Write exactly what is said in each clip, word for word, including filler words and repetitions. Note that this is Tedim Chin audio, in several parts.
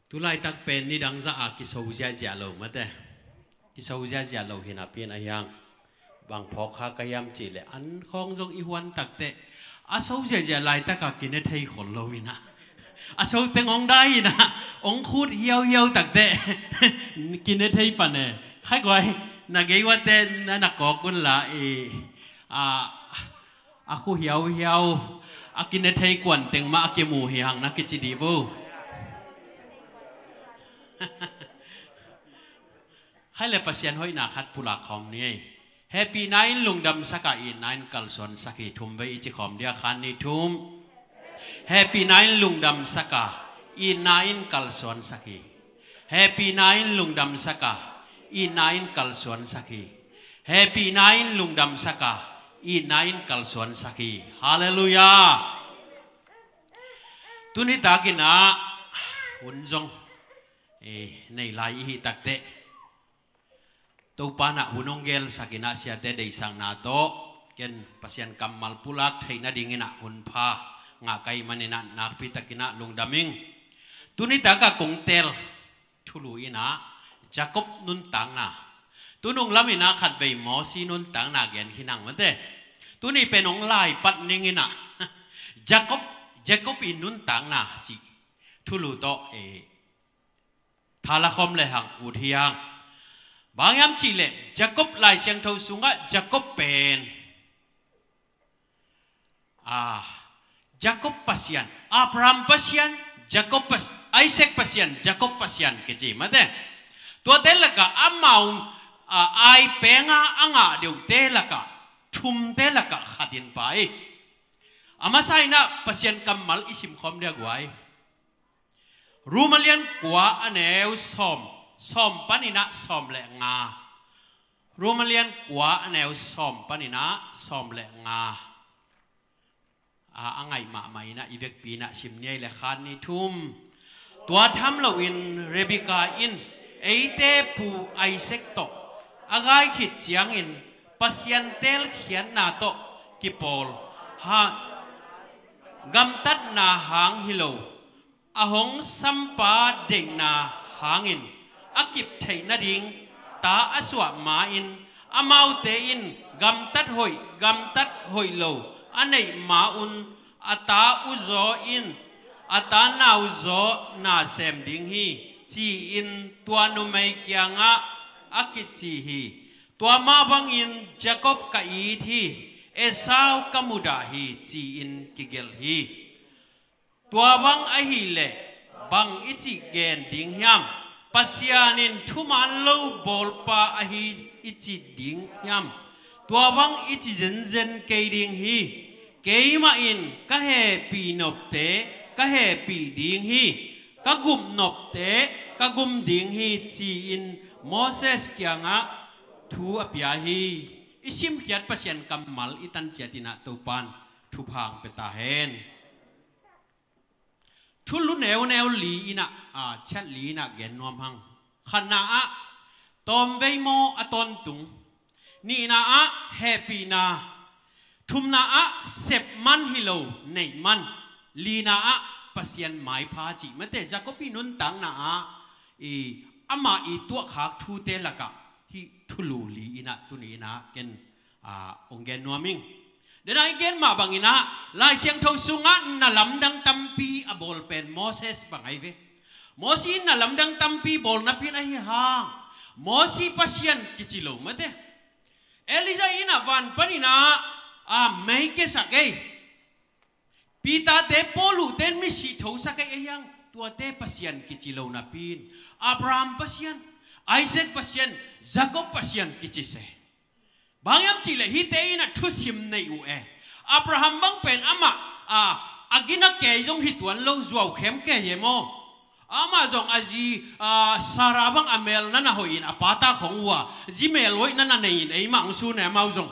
Tulaitak pen nidang zah a kiso ziahziah lo mate. Kiso ziahziah lo hi napi-in a hiang bang phawk kha ka hiam cihleh an khawng zong i huan takteh a so ziahziah laitaka kine thei khol lo inah a so teng hong dai inah hong khut hiauhiau takteh kine thei pan e. Khai guai, na gei uate na na kawk unla i a a khu hiauhiau a kine thei kuan teng mah a kimu hi hang na kici dih vo. Khai le Pasian hoihna khat pulak khawm ni ei. Hehpihna in lungdamsak a, itna in kalsuansak hi. Thum vei i ci khawm dia, khan ni thum. Hehpihna in lungdamsak a, itna in kalsuansak hi. Hehpihna in lungdamsak a, itna in kalsuansak hi. Hehpihna in lungdamsak a, itna in kalsuansak hi. Halleluiah. Tuni takin ah hun zong, eh, nei lai i hih takteh Topa in ah hun hong gelsak inah siate deihsakna tawh ken Pasian kammal pulak theih nadingin ah hun pha ngah ka hih manin ah nakpi takin ah lungdam ing. Tuni taka kong teel thulu inah Jacob nuntakna, tunung lam inah khatvei Mosi nuntakna gen khin hang mate. Tuni pen hong lai pat ning inah Jacob, Jacob i nuntakna cih thulu tawh, eh, thala khawm le hang ut hi hang. Bang hiam cihleh Jacob, Lai Siangtho sungah Jacob pen ah, Jacob Pasian, Abraham Pasian, Jacob Pas-, Isaac Pasian, Jacob Pasian kici mate. Tuate lakah amau, ah, ai penga a ngah deuhte lakah thumte lakah khat in pai. A masa inah Pasian kammal i simkhawm dia guai. Rom a lian kua a neu sawm, sawm panin ah sawm le nga. Rom a lian kua a neu sawm panin ah sawm le nga. A, a ngaih mahmah inah i vekpi inah sim ni ei le, khan ni thum. Tua tham loin Rebekah in eite pu Isaac tawh a gai khit ciangin Pasian teelkhiatna tawh kipawl ha, gamtatna hang hi lo, a hong sampa deihna hangin a kip theih nading ta a suah ma-in, amaute in gamtat hoih, gamtat hoih lo a neih ma-un a ta uzaw in a ta nauzaw na sem ding hi, ci-in tua numei kiangah a kici hi. Tua mah bangin Jacob ka it hi, Esau ka mudah hi, ci-in kigelh hi. Tua bang ahih leh bang i cih gen ding hiam? Pasian in thuman lo bawlpa ahi i ci ding hiam? Tua bang i ci zenzen kei ding hi. Keimah in ka hehpih nopte ka hehpih ding hi, ka gum nopte ka gum ding hi, ci-in Moses kiangah thu a pia hi. I simkhiat Pasian kammal i tan ciat inah Topan thupha hong pia ta hen. Thulu neuneu li inah, a, ciat li inah gen nuam hang. Khatna ah tawmvei maw a tawntung. Nihna ah hehpihna. Thumna ah sep man hi lo, neih man. Lina ah Pasian maipha cih mate. Jacob i nuntakna ah i, ama i tuahkhak thute lakah hih thulu li inah tuni inah ken, a, hong gen nuam ing. Dena i gen mah bangin ah Lai Siangtho sungah na lamdang tampi a bawl pen Moses bang ahi ve. Mosi in na lamdang tampi bawl napi-in ahi hang Mosi Pasian kici lo mate. Elijah in ah van panin ah, a, mei kiasak ei. Peter te, Paul te in misi thosak ei, ahi hang tuate Pasian kici lo napi-in Abraham Pasian, Isaac Pasian, Jacob Pasian kici se. Bang hiam cihleh hihte in ah thusim nei uh e. Abraham bang pen amah, a, a gina kei zong hi tuan lo, zuau khem kei e maw. Amah zong a zi, a, Sarah bang a mel na na hoih in a pa ta khong uh a, zi mel hoih na na nei in eimah hong sun e amau zong.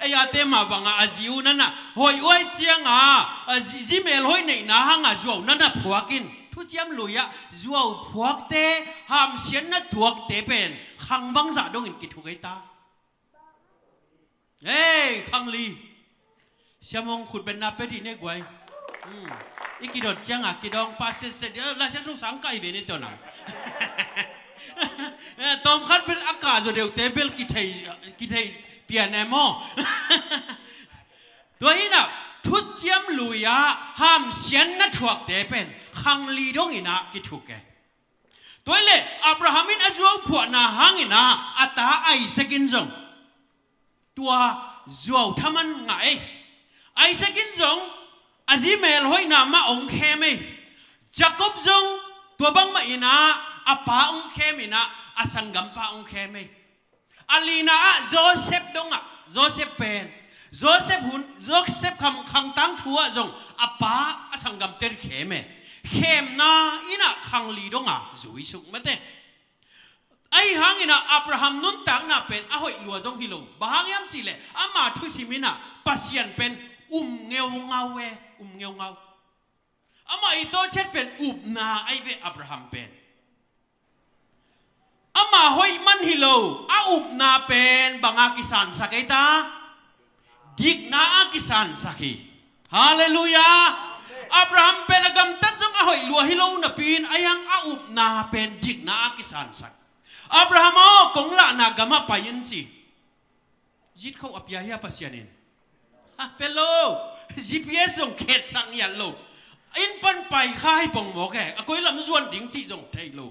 Ei ate mah bangah a zi uh na na hoih uh ahih ciangah, a zi, zi mel hoih neihna hangah zuau na na phuak in. Thuciam Lui ah zuau phuakte, hamsiatna tuakte pen khang bangzah dongin kithuk ei ta. Hei, khang li. Siamong khut benna pia dih ne guai. Hmm. I kidot ciangah kidawng pah setset, eh, Laisiangtho sang kai ve ni tawh nang. Eh, tawmkhat bel a kah zaw deuhte bel kithei, kithei pian e maw. Tua hinah thuciam lui-ah hamsiatna thuakte pen khangli donginah kithuk e. Tua hileh Abraham in a zuau phuahna hanginah a ta Isaac in zong tua zuau thaman ngah ei. Isaac in zong a zi melhoihna mah hong khem ei. Jacob zong tua bangmah inah a pa hong khem inah a sanggampa hong khem ei. A lina ah Joseph dongah, Joseph pen, Joseph hun, Joseph kham khangtang thu ah zong a pa a sanggamte khem e. Khemna inah khangli donga zuisuk mate. Ahi hanginah Abraham nuntakna pen a hoih lua zong hi lo. Bang hang hiam cihleh ama thusim inah Pasian pen um ngeungau e, um ngeungau. Amah i tawchet pen upna ahi ve Abraham pen. Ama hoih man hi lo, a upna pen banga kisansak ei ta? Dikna a kisansak hi. Halleluiah. Abraham pen a gamtat zong a hoih lua hi lo napi-in a hiang a upna pen dikna a kisansak. Abraham aw, kong lahna gamah pai in ci. Zitkho a pia hia Pasian in? Ha, pia lo. G P S zong khetsak ngiat lo. Inn pan pai kha hi pongmawk e. A koi lam zuan ding cih zong thei lo.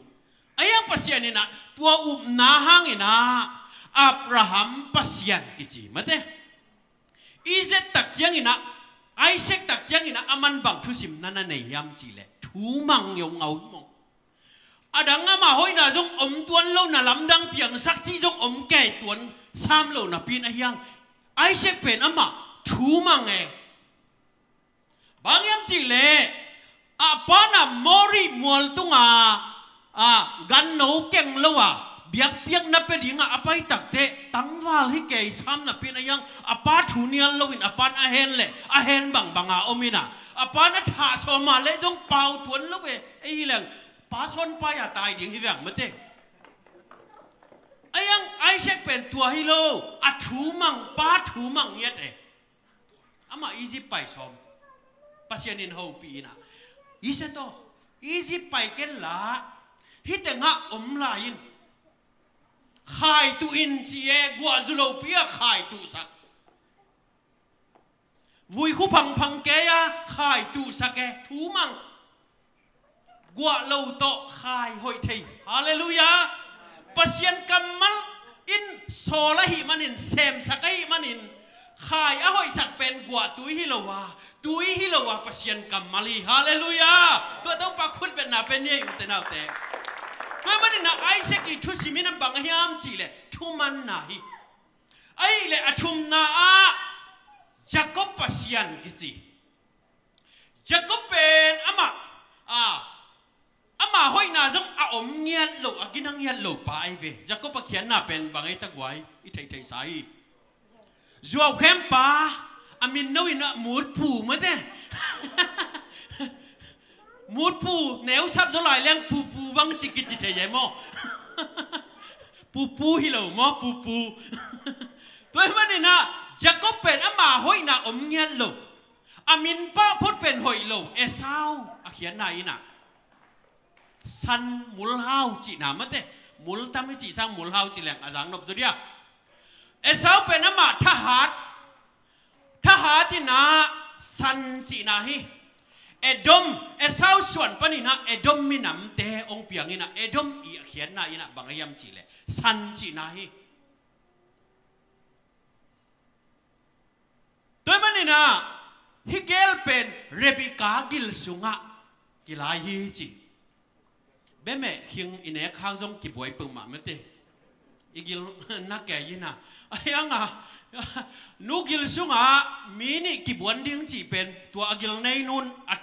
A hiang Pasian inah tua upna hanginah Abraham Pasian kici mate. Isaac tak cianginah, Isaac tak cianginah a man bang thusimna na nei hiam cihleh thumang ngeungau hi maw. A dang ama hoihna zong om tuan lo, na lamdang piangsak cih zong om kei tuan sam lo napi-in a hiang Isaac pen amah thumang e. Bang hiam cihleh a pana Mori mual tunga a ganno keng lo a biakpiakna pia dinga a pai takteh tangval hi kei sam napi-in a hiang a pa thu nial loin a pan a hen leh a hen bangbanga om inah a pan a thah sawma leh zong pau tuan lo ve. Ei hi leng pa sawn pai a tai ding hi veng mate. A hiang Isaac pen tua hi lo, a thumang, pa thumang ngiat e. Amah Egypt pai sawm. Pasian in hopih inah Isaac aw, Egypt pai ken la, hih tengah om lai in. Khai tuh in ci e, guah zu lopi a khai tuhsak. Vui khu phangphang kei a khai tuhsak e, thumang. Guah lo tawh khai hoih thei. Halleluiah. Pasian kammal in sawl ahih manin, semsak ahih manin, khai a hoihsak pen guah tui hi lo a, tui hi lo a Pasian kammal hi. Halleluiah. Tua Topa khutbetna pen hi ei ute naute. Tua manin a Isaac i thusim in a bang a hiam cihleh thumanna hi. Ahih leh a thumna ah Jacob Pasian kici. Jacob pen amah, a, amah hoihna zong a om ngiat lo, a gina ngiat lo pa ahi ve. Jacob a khiatna pen bang ei ta guai, i theihtheihsa hi. Zuaukhempa, a min no inah Mutpu mate. Mutpu, neu sap zaw lai leng pupu bang ci kici thei e maw. Pupu hi lo maw, pupu. Tua ahih maninah Jacob pen ama hoihna om ngiat lo. A min pah phot pen hoih lo. Esau a khiatna inah san mulhau cihna mate. Mul tam hi cih sang mulhau cih leng a zang nop zaw dia. Esau pen amah thahat, thahat inah san cihna hi. Edom, Esau suan paninah Edom minamte hong piang inah Edom i a khiatna inah bang a hiam cihleh san cihna hi. Tua ahih maninah hih gel pen Rebekah gil sungah kilai hi ci. Bemeh khing i nek khak zong kibuai peuhmah mate. I gil na kei inah a hiangah nu gil sungah mi nih kibuan ding cih pen tua a gil nei nun a,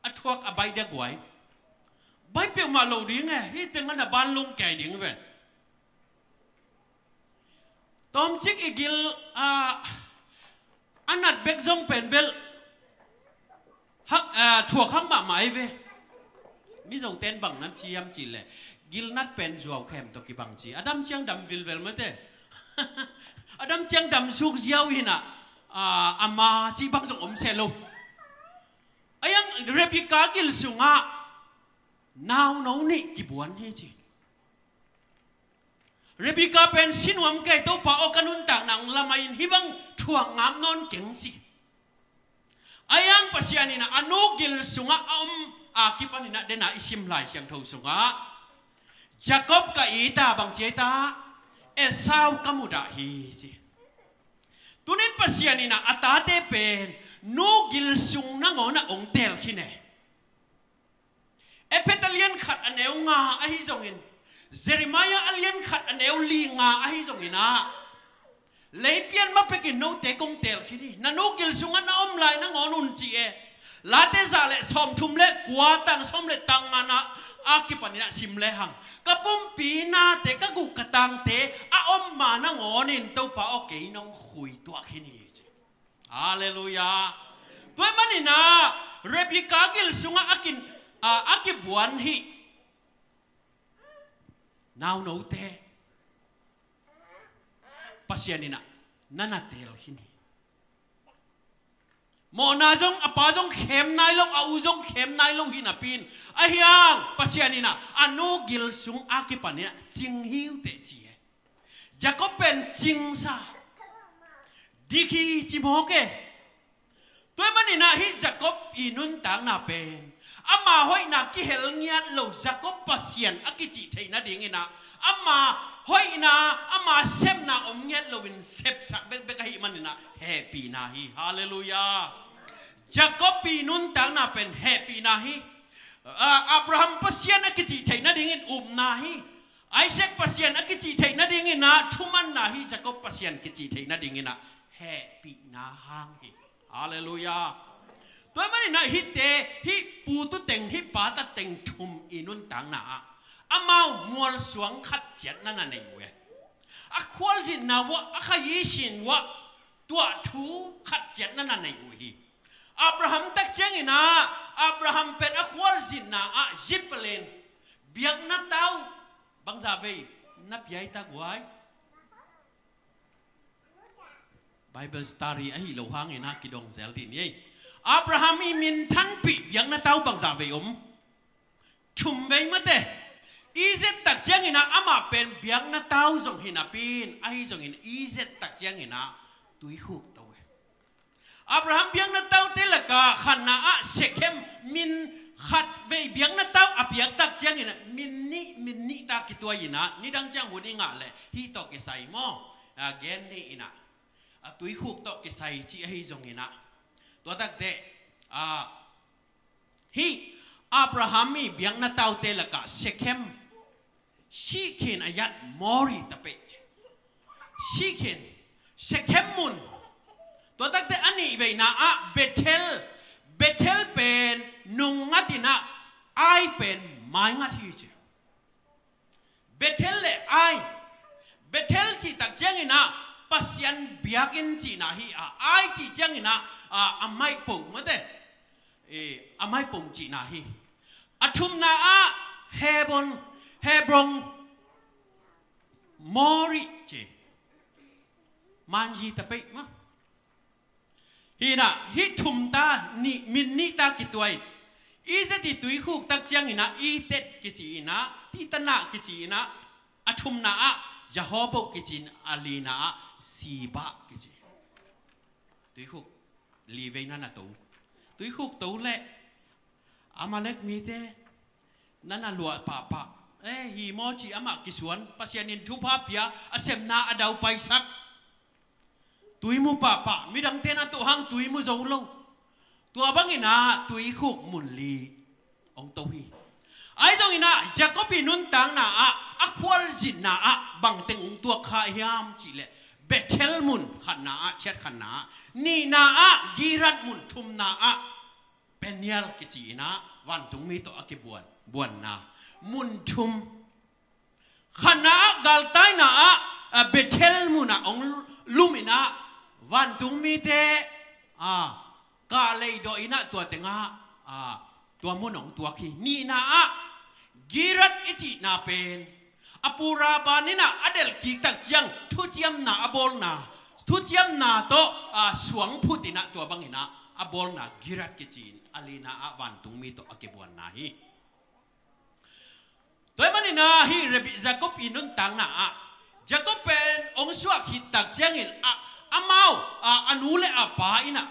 a thuak a baih dia guai. Baih peuhmah lo ding e, hih tengah na banlung kei ding ve. Tawmcik i gil a, a nat bek zong pen bel hak, a, thuak hak mahmah ahi ve. Mizoten bang nan ci hiam cihleh gil nat pen zuaukhem tawh kibang ci. A dam ciang dam vilvel mate. A dam ciang dam suk ziau hinah, a, ama ci bang zong om seh lo. Rebekah gil sungah nauno nih kibuan hi ci. Rebekah pen sinuam kei, Topa aw, ka nuntakna hong lamah in hih bang thuak ngam nawn keng ci. Ahi hang Pasian in ah a nu gil sungah a om a kipan in ah, dena i sim Lai Siangtho sungah Jacob ka it a, bang ci a, Esau ka mudah hi ci. Tunin Pasian in ah a tate pen nu gil sung nangawn ah hong teel khin e. Ephet a lian khat a neu nga ahi zongin, Jeremiah a lian khat a neu li nga ahi zongin ah, leipian ma pekin note kong teel khin hi. Na nu gil sungah na om lai nangawn un ci e. Late za le sawmthum le kua, tang sawm le tang nga na a kipan in ah sim lehang, ka pumpi nate, ka guh ka tangte a om ma nangawn in Topa aw, kei nong khui tuah khin hi ci. Halleluiah. Tua ahih manin ah Rebekah gil sungah a kin, a, a kibuan hih naunote Pasian in ah na na teel khin hi. Mawhna zong, a pa zong khem nai lo, a u zong khem nai lo hi napi in, ahi hang Pasian in ah a nu gil sung a kipan in ah cing hi uh teh ci e. Jacob pen cingsa, dik hi ci mawk e. Tua ahih manin ah hih Jacob i nuntakna pen ama hoihna kihel ngiat lo, Jacob Pasian a kicih theih nadingin ah ama hoihna, ama sepna om ngiat loin sepsak bekbek ahih manin ah hehpihna hi. Halleluiah. Jacob i nuntakna pen hehpihna hi. A, Abraham Pasian a kicih theih nadingin upna hi. Isaac Pasian a kicih theih nadingin ah thumanna hi. Jacob Pasian kicih theih nadingin ah hehpihna hang hi. Halleluiah. Tua ahih manin ah hihte, hih pu tu teng, hih pa ta teng thum i nuntakna ah amau mualsuang khat ciat na na nei uh e. A khualzinna uah, a khayi sin uah tuah thu khat ciat na na nei uh hi. Abraham tak ciangin ah, Abraham pen a khualzinna ah zi palen biakna tau bangzah vei na piai ta guai? Bible study ahi lo hangin ah kidong zel dih ni ei. Abraham i min thanpih biakna tau bangzah vei om? Thum vei mate. Isaac tak ciangin ah amah pen biakna tau zong hi napi in, ahi zongin Isaac tak ciangin ah tuikhuk to e. Abraham biakna taute lakah khatna ah Shekhem min khat vei biakna tau a piak tak ciangin ah min nih, min nih ta kituai in ah, nidang ciang hun i ngah leh hih tawh kisai maw, a, gen ni in ah, a, tuikhuk tawh kisai ci ahi zongin ah, tua takte, a, hih Abraham i biakna taute lakah Shekhem, Shikhin ayat Mori tapeh, Shikhin, Shekhem mun. Tua takte a nih veina ah Bethel, Bethel pen nung ngat in ah Ai pen mai ngat hi ci. Bethel le Ai. Bethel cih tak ciangin ah Pasian biakinn cihna hi a, Ai cih ciangin ah, a, a maipong mate. E, a maipong cihna hi. A thumna ah Hebron, Hebron, Mori ci. Manzi tapeh mah. Hi in ah, hih thum ta, nih, min nih ta kituai. Isaac i tuikhuk tak ciangin ah Edet kici in ah, Titanah kici in ah, a thumna ah Rehoboth kici in, a lina ah Sheba kici. Tuikhuk li vei na na to. Tuikhuk to leh Amalek mite na na luah pahpah. Eh, hi maw ci amah kisuan, Pasian in thupha pia, a sepna a daupaisak. Tui mu pahpah, midangte na tuh hang tui mu zo lo. Tua bangin ah tuikhuk mun li hong to hi. Ahi zongin ah Jacob i nuntakna ah, a khualzinna ah bangteng hong tuak kha hiam cih leh, Bethel mun khatna ah, ciat khatna ah, nihna ah Gilead mun, thumna ah Peniel kici in ah vantungmi tawh a kibuan, buanna mun thum. Khatna ah galtaina ah, a, Bethel mun ah hong lum in ah vantungmite, a, kah leidawh in ah tua tengah, a, tua mun hong tuak hi. Nihna ah Gilead i cihna pen a pu Laban in ah a delh kik tak ciang thuciamna a bawlna, thuciamna tawh, a, suang phut in ah tua bangin ah, a bawlna Gilead kici in a lina ah vantungmi tawh a kibuanna hi. Tua ahih manin ah hih Rebekah, Jacob i nuntakna ah, Jacob pen hong suak khit tak ciangin ah, amau, ah, a nu le a pa in ah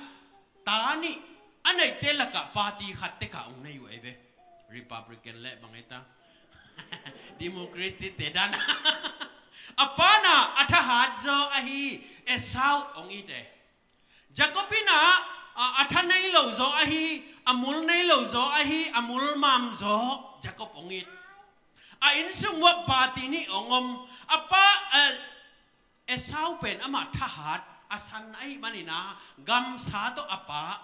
ta nih a neite lakah party khat tek a hong nei uh ahi ve. Republican le bang ei ta, Democratic te dan. A pa in ah a thahat zaw ahi Esau hong it e. Jacob in ah, a, a tha nei lo zaw ahi, a mul nei lo zaw ahi, a mul mam zaw Jacob hong it. A innsung uah party nih hong om. A pa, eh, Esau pen amah thahat a san ahih manin ah gamsa tawh a pa,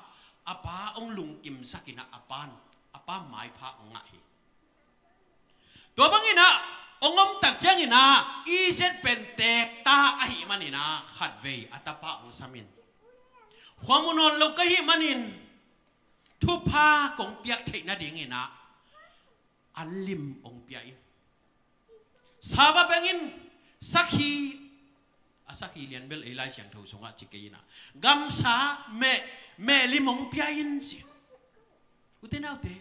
a pa hong lungkimsak in ah a pa, a pa maipha hong ngah hi. Tua bangin ah hong om tak ciangin ah Isaac pen teek ta ahih manin ah khatvei a tapa hong sam in, khua mu nawn lo ka hih manin thupha kong piak theih nadingin ah an lim hong pia in, sava bengin sakhi, a sakhi lian bel ei Lai Siangtho sungah ci kei in ah, gamsa meh, meh lim hong pia in ci. Ute naute,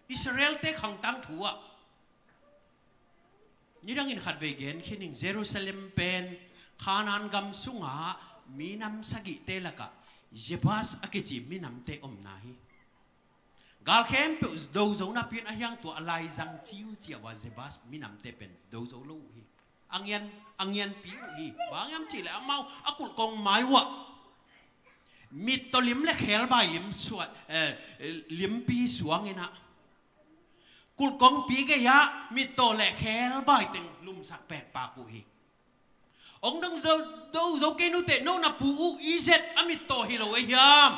Israel-te khangtang thu ah nidangin khatvei gen khin ing. Jerusalem pen Kanaan gam sungah minam sagihte lakah Jebus a kici minamte omna hi. Gal khempeuh do zo napi in a hiang tua a laizang ciuciau a Jebus minamte pen do zo lo uh hi. A ngian, a ngianpi uh hi. Bang hiam cih leh amau a kulhkong mai uah mittaw lim le khebai lim suah, eh, limpi suang in ah kulhkongpi gei ah mittaw le khebai teng lumsak pekpak uh hi. Hong dong zo, do zo kei nute, no na pu uh Isaac a mittaw hi lo ahi hiam?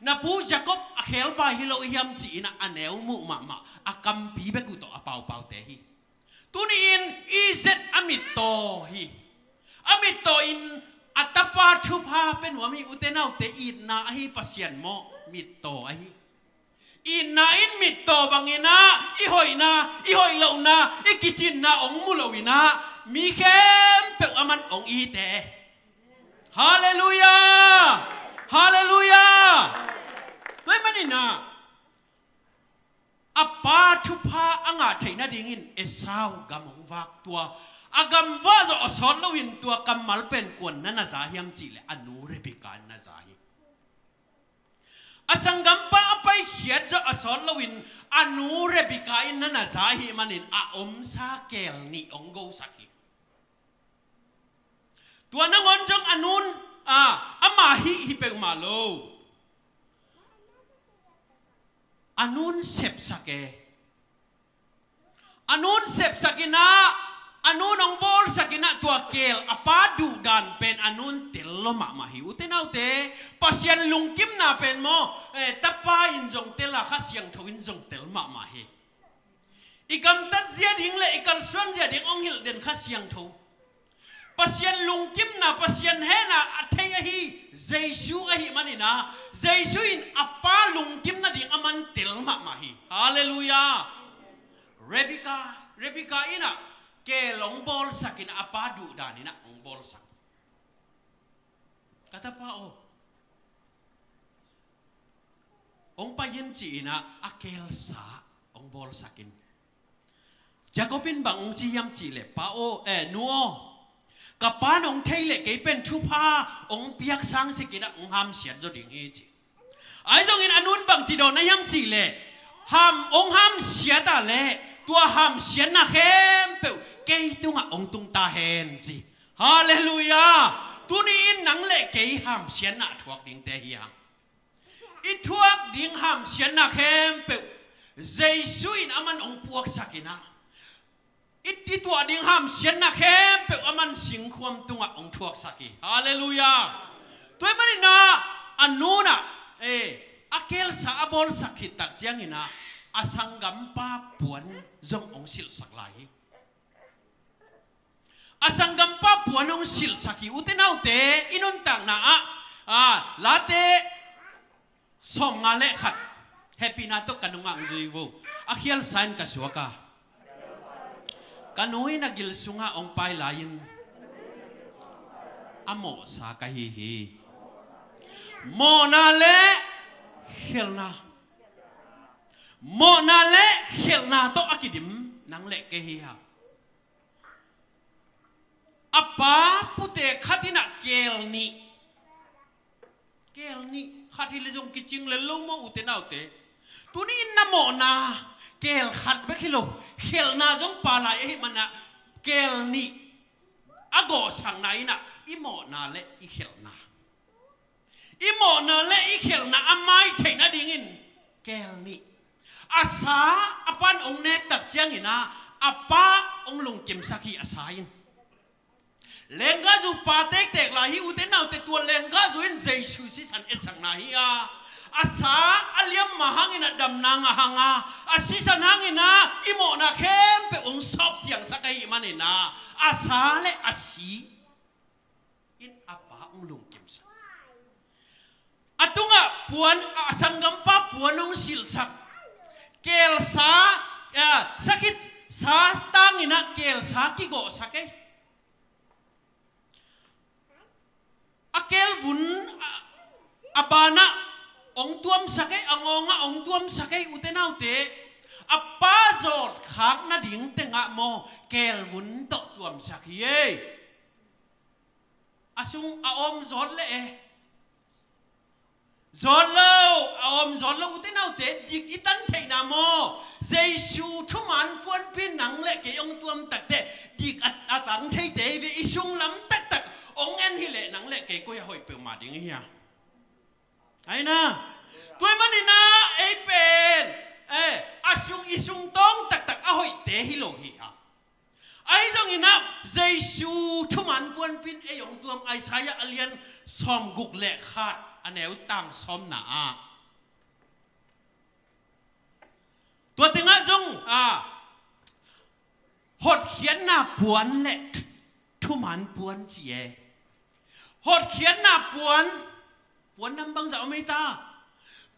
Na pu Jacob a khebai hi lo ahi hiam ci in ah a neu muh mahmah, a kampi bek uh tawh a paupaute hi. Tuni in Isaac a mittaw hi. A mittaw in a tapa thupha pia nuam hi. Ute naute, itna ahi Pasian maw, mittaw ahi. Itna in mittaw bangin ah i hoihna, i hoih lohna, i kicinna hong mu lo in ah mi khempeuh aman hong it e. Halleluiah! Halleluiah! Tua ahih manin ah a pa thupha a ngah theih nadingin Esau gam hong vak, tua a gam vak zawh a sawt loin tua kammal pen kuan na na za hiam cih leh a nu Rebekah in na za hi. A sanggampa a paikhiat zawh a sawt loin a nu Rebekah in na na za ahih manin a omsa keel nih hong gosak hi. Tua nangawn zong a nun, a, ama hih hi peuhmah lo. A nun sepsak e. A nun sepsak in ah, a nun hong bawlsak in ah tua keel, a pa duhdan pen a nun tel lo mahmah hi. Ute naute, Pasian lungkimna pen maw, eh, tapa in zong tel a, Kha Siangtho in zong tel mahmah hi. I gamtat zia ding le i kalsuan zia ding hong hilh den Kha Siangtho. Pasian lungkimna, Pasian hehna a thei ahi Jesu ahih manin ah, Jesu in a pa lungkim nading aman tel mahmah hi. Halleluiah. Rebekah, Rebekah in ah keel hong bawlsak in ah a pa duhdan in ah hong bawlsak. Ka tapa aw, hong pai in ci in ah a keelsa hong bawlsak in. Jacob in bang hong ci hiam cih leh, pa aw, eh, nu aw, ka pa in hong thei leh kei pen thupha hong piak sang sik in ah hong hamsiat zaw ding hi ci. Ahi zongin a nun bang ci dawn a hiam cih leh, ham, hong hamsiat a leh tua hamsiatna khempeuh kei tungah hong tung ta hen ci. Halleluiah. Tuni in nang le kei hamsiatna thuak dingte hi hang. I thuak ding hamsiatna khempeuh Jesu in aman hong puaksak in ah, i, i tuah ding hamsiatna khempeuh aman singkhuam tungah hong thuaksak hi. Halleluiah. Tua ahih manin ah a nun ah, eh, a keelsa a bawlsak khit tak ciangin ah a sanggampa puan zong hong silhsak lai hi. A sanggampa puan hong silhsak hi. Ute naute, i nuntakna ah, ah, Late sawmnga le khat, hehpihna tawh ka nungah hong zui vo. A khialsa in ka suak a, ka nu in a gil sungah hong pai lai-in a mawhsa ka hi hi. Mawhna le Khelhna. Mawhna le khelhna tawh a kidim nang le kei hi hang. A pa pute khat in ah keel nih. Keel nih khat hi le zong kicing lel lo maw, ute naute. Tuni in na mawhna keel khat bek hi lo, khelhna zong pha lai ahih manin ah keel nih a gawhsakna in ah i mawhna le i khelhna, i mawhna le i khelhna a mai theih nadingin keel nih. A sa a pan hong nek tak ciangin ah a pa hong lungkimsak hi a sa in. Lenggahzu pa tektek lai hi, ute naute, tua lenggahzu in Jesu sisan etsakna hi a, a sa a liam mah hangin ah damna ngah hang a, a sisan hangin ah i mawhna khempeuh hong sawp siangsak ahih manin ah a sa le a si in a pa hong lungkimsak. A tungah puan, a sanggampa puan hong silhsak. Keelsa, ah, sakhi sa tangin ah keelsa kigawhsak ei. A keelvun a, a banah hong tuamsak ei, a ngawngah hong tuamsak ei, ute naute. A pa zawtkhak nading tengah maw, keelvun tawh tuamsak hi ei. A sung a om zawt leh e. Zawt lo, a om zawt lo, ute naute, dik i tan theihna maw? Jesu thuman puanpi nang le kei hong tuam takteh dik a, a tang theite hi ve, i sung lam taktak hong en hi leh nang le kei koi a hoih peuhmah ding i hi a. Aina. Tua ahih manin ah ei pen, eh, a sung, i sung tawng taktak a hoihte hi lo hi hang. Ahi zongin ah Jesu thuman puanpi in ei hong tuam, Isaiah a lian sawmguk le khat a neu tang sawmna ah. Tua tengah zong, ah, hotkhiatna puan le thuman puan ci e. Hotkhiatna puan, puan nam bangzah om ei ta.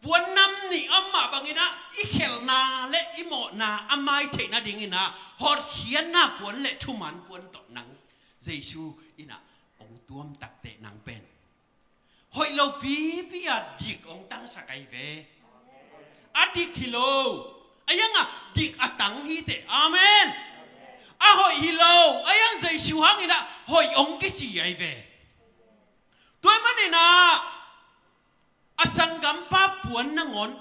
Puan nam nih om mah bangin ah i khelhna le i mawhna a mai theih nadingin ah hotkhiatna puan le thuman puan tawh nang Jesu in ah hong tuam takteh nang pen hoih lo pipi a dik hong tangsak ahi ve. A dik hi lo, a hiang a dik a tang hi teh. Amen. A hoih hi lo, a hiang Jesu hangin ah hoih hong kici ahi ve. Tua ahih manin ah a sanggampa puan nangawn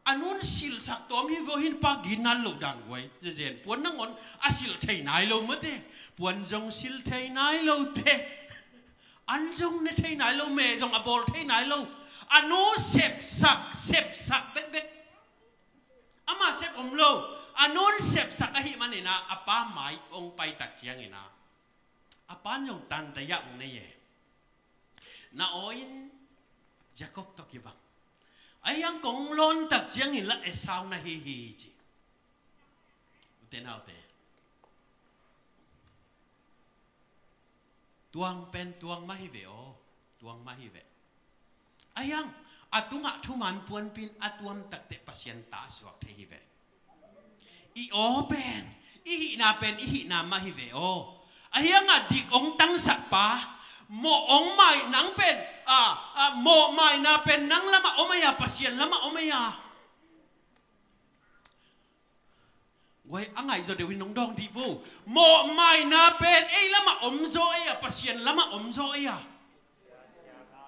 a nun silhsak tawm hi vo, hih pa gitna lo dan guai. Zezen puan nangawn a silh thei nai lo mate. Puan zong silh thei nai lo te. An zong ne thei nai lo, me zong a bawl thei nai lo. A nu sepsak, sepsak bekbek. Ama sep om lo. A nun sepsak ahih manin ah a pa mai hong pai tak ciangin ah a pan zong tanta yah hong nei e. Na aw in Jacob tawh kibang. A hiang kong lawn tak ciangin lah Esau na hi hi ci. Ute naute. Tuang pen tuang mah hi ve aw. Tuang mah hi ve. A hiang a tungah thuman puanpi in a tuam takteh Pasian ta a suak thei hi ve. I aw pen, i hihna pen i hihna mah hi ve aw. A hiang a dik hong tangsak pa, mawh hong mai nang pen, a, a, mawh maina pen nang lamah om ei a, Pasian lamah om ei a. Guai, a ngaihzaw deuh in nong dawng dih vo. Mawh maina pen ei lamah om zaw ei a, Pasian lamah om zaw ei a.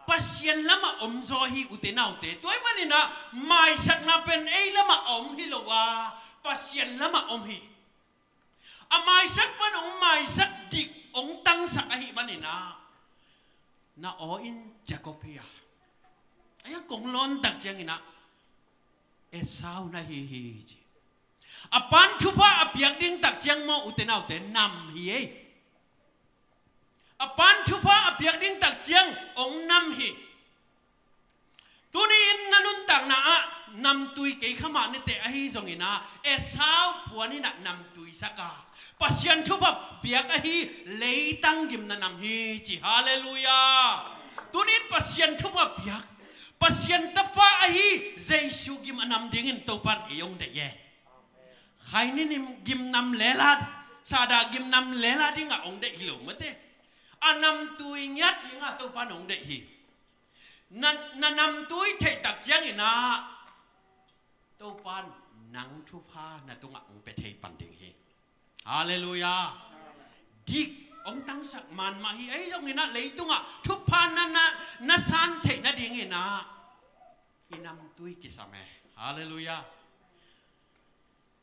Pasian lamah om zaw hi, ute naute. Tua ahih manin ah maisakna pen ei lamah a om hi lo a, Pasian lamah om hi. A maisak pan hong maisak dik hong tangsak ahih manin ah na aw in Jacob hi a. A hiang kong lawn tak ciangin ah Esau na hi hi ci. A pan thupha a piak ding tak ciang maw, ute naute, nam hi ei. A pan thupha a piak ding tak ciang hong nam hi. Tuni in na nuntakna ah namtui kei kha mah ni teh, ahi zongin ah Esau puan in ah namtui sak a, Pasian thupha piak ahi leitang gimna nam hi ci. Halleluiah. Tuni in Pasian thupha piak, Pasian tapa ahi Jesu gim a nam dingin Topan ei hong deih e. Khaininim gimnam lela, Satan gimnam lela dingah hong deih hi lo mate. A namtui ngiat dingah Topan hong deih hi. Na, na namtui theih tak ciangin ah Topa in nang thupha na tungah hong pia thei pan ding hi. Halleluiah. Dik hong tangsak man mah hi. Ahi zongin ah leitungah thupha na, na, na san theih nadingin ah i namtui kisam e. Halleluiah.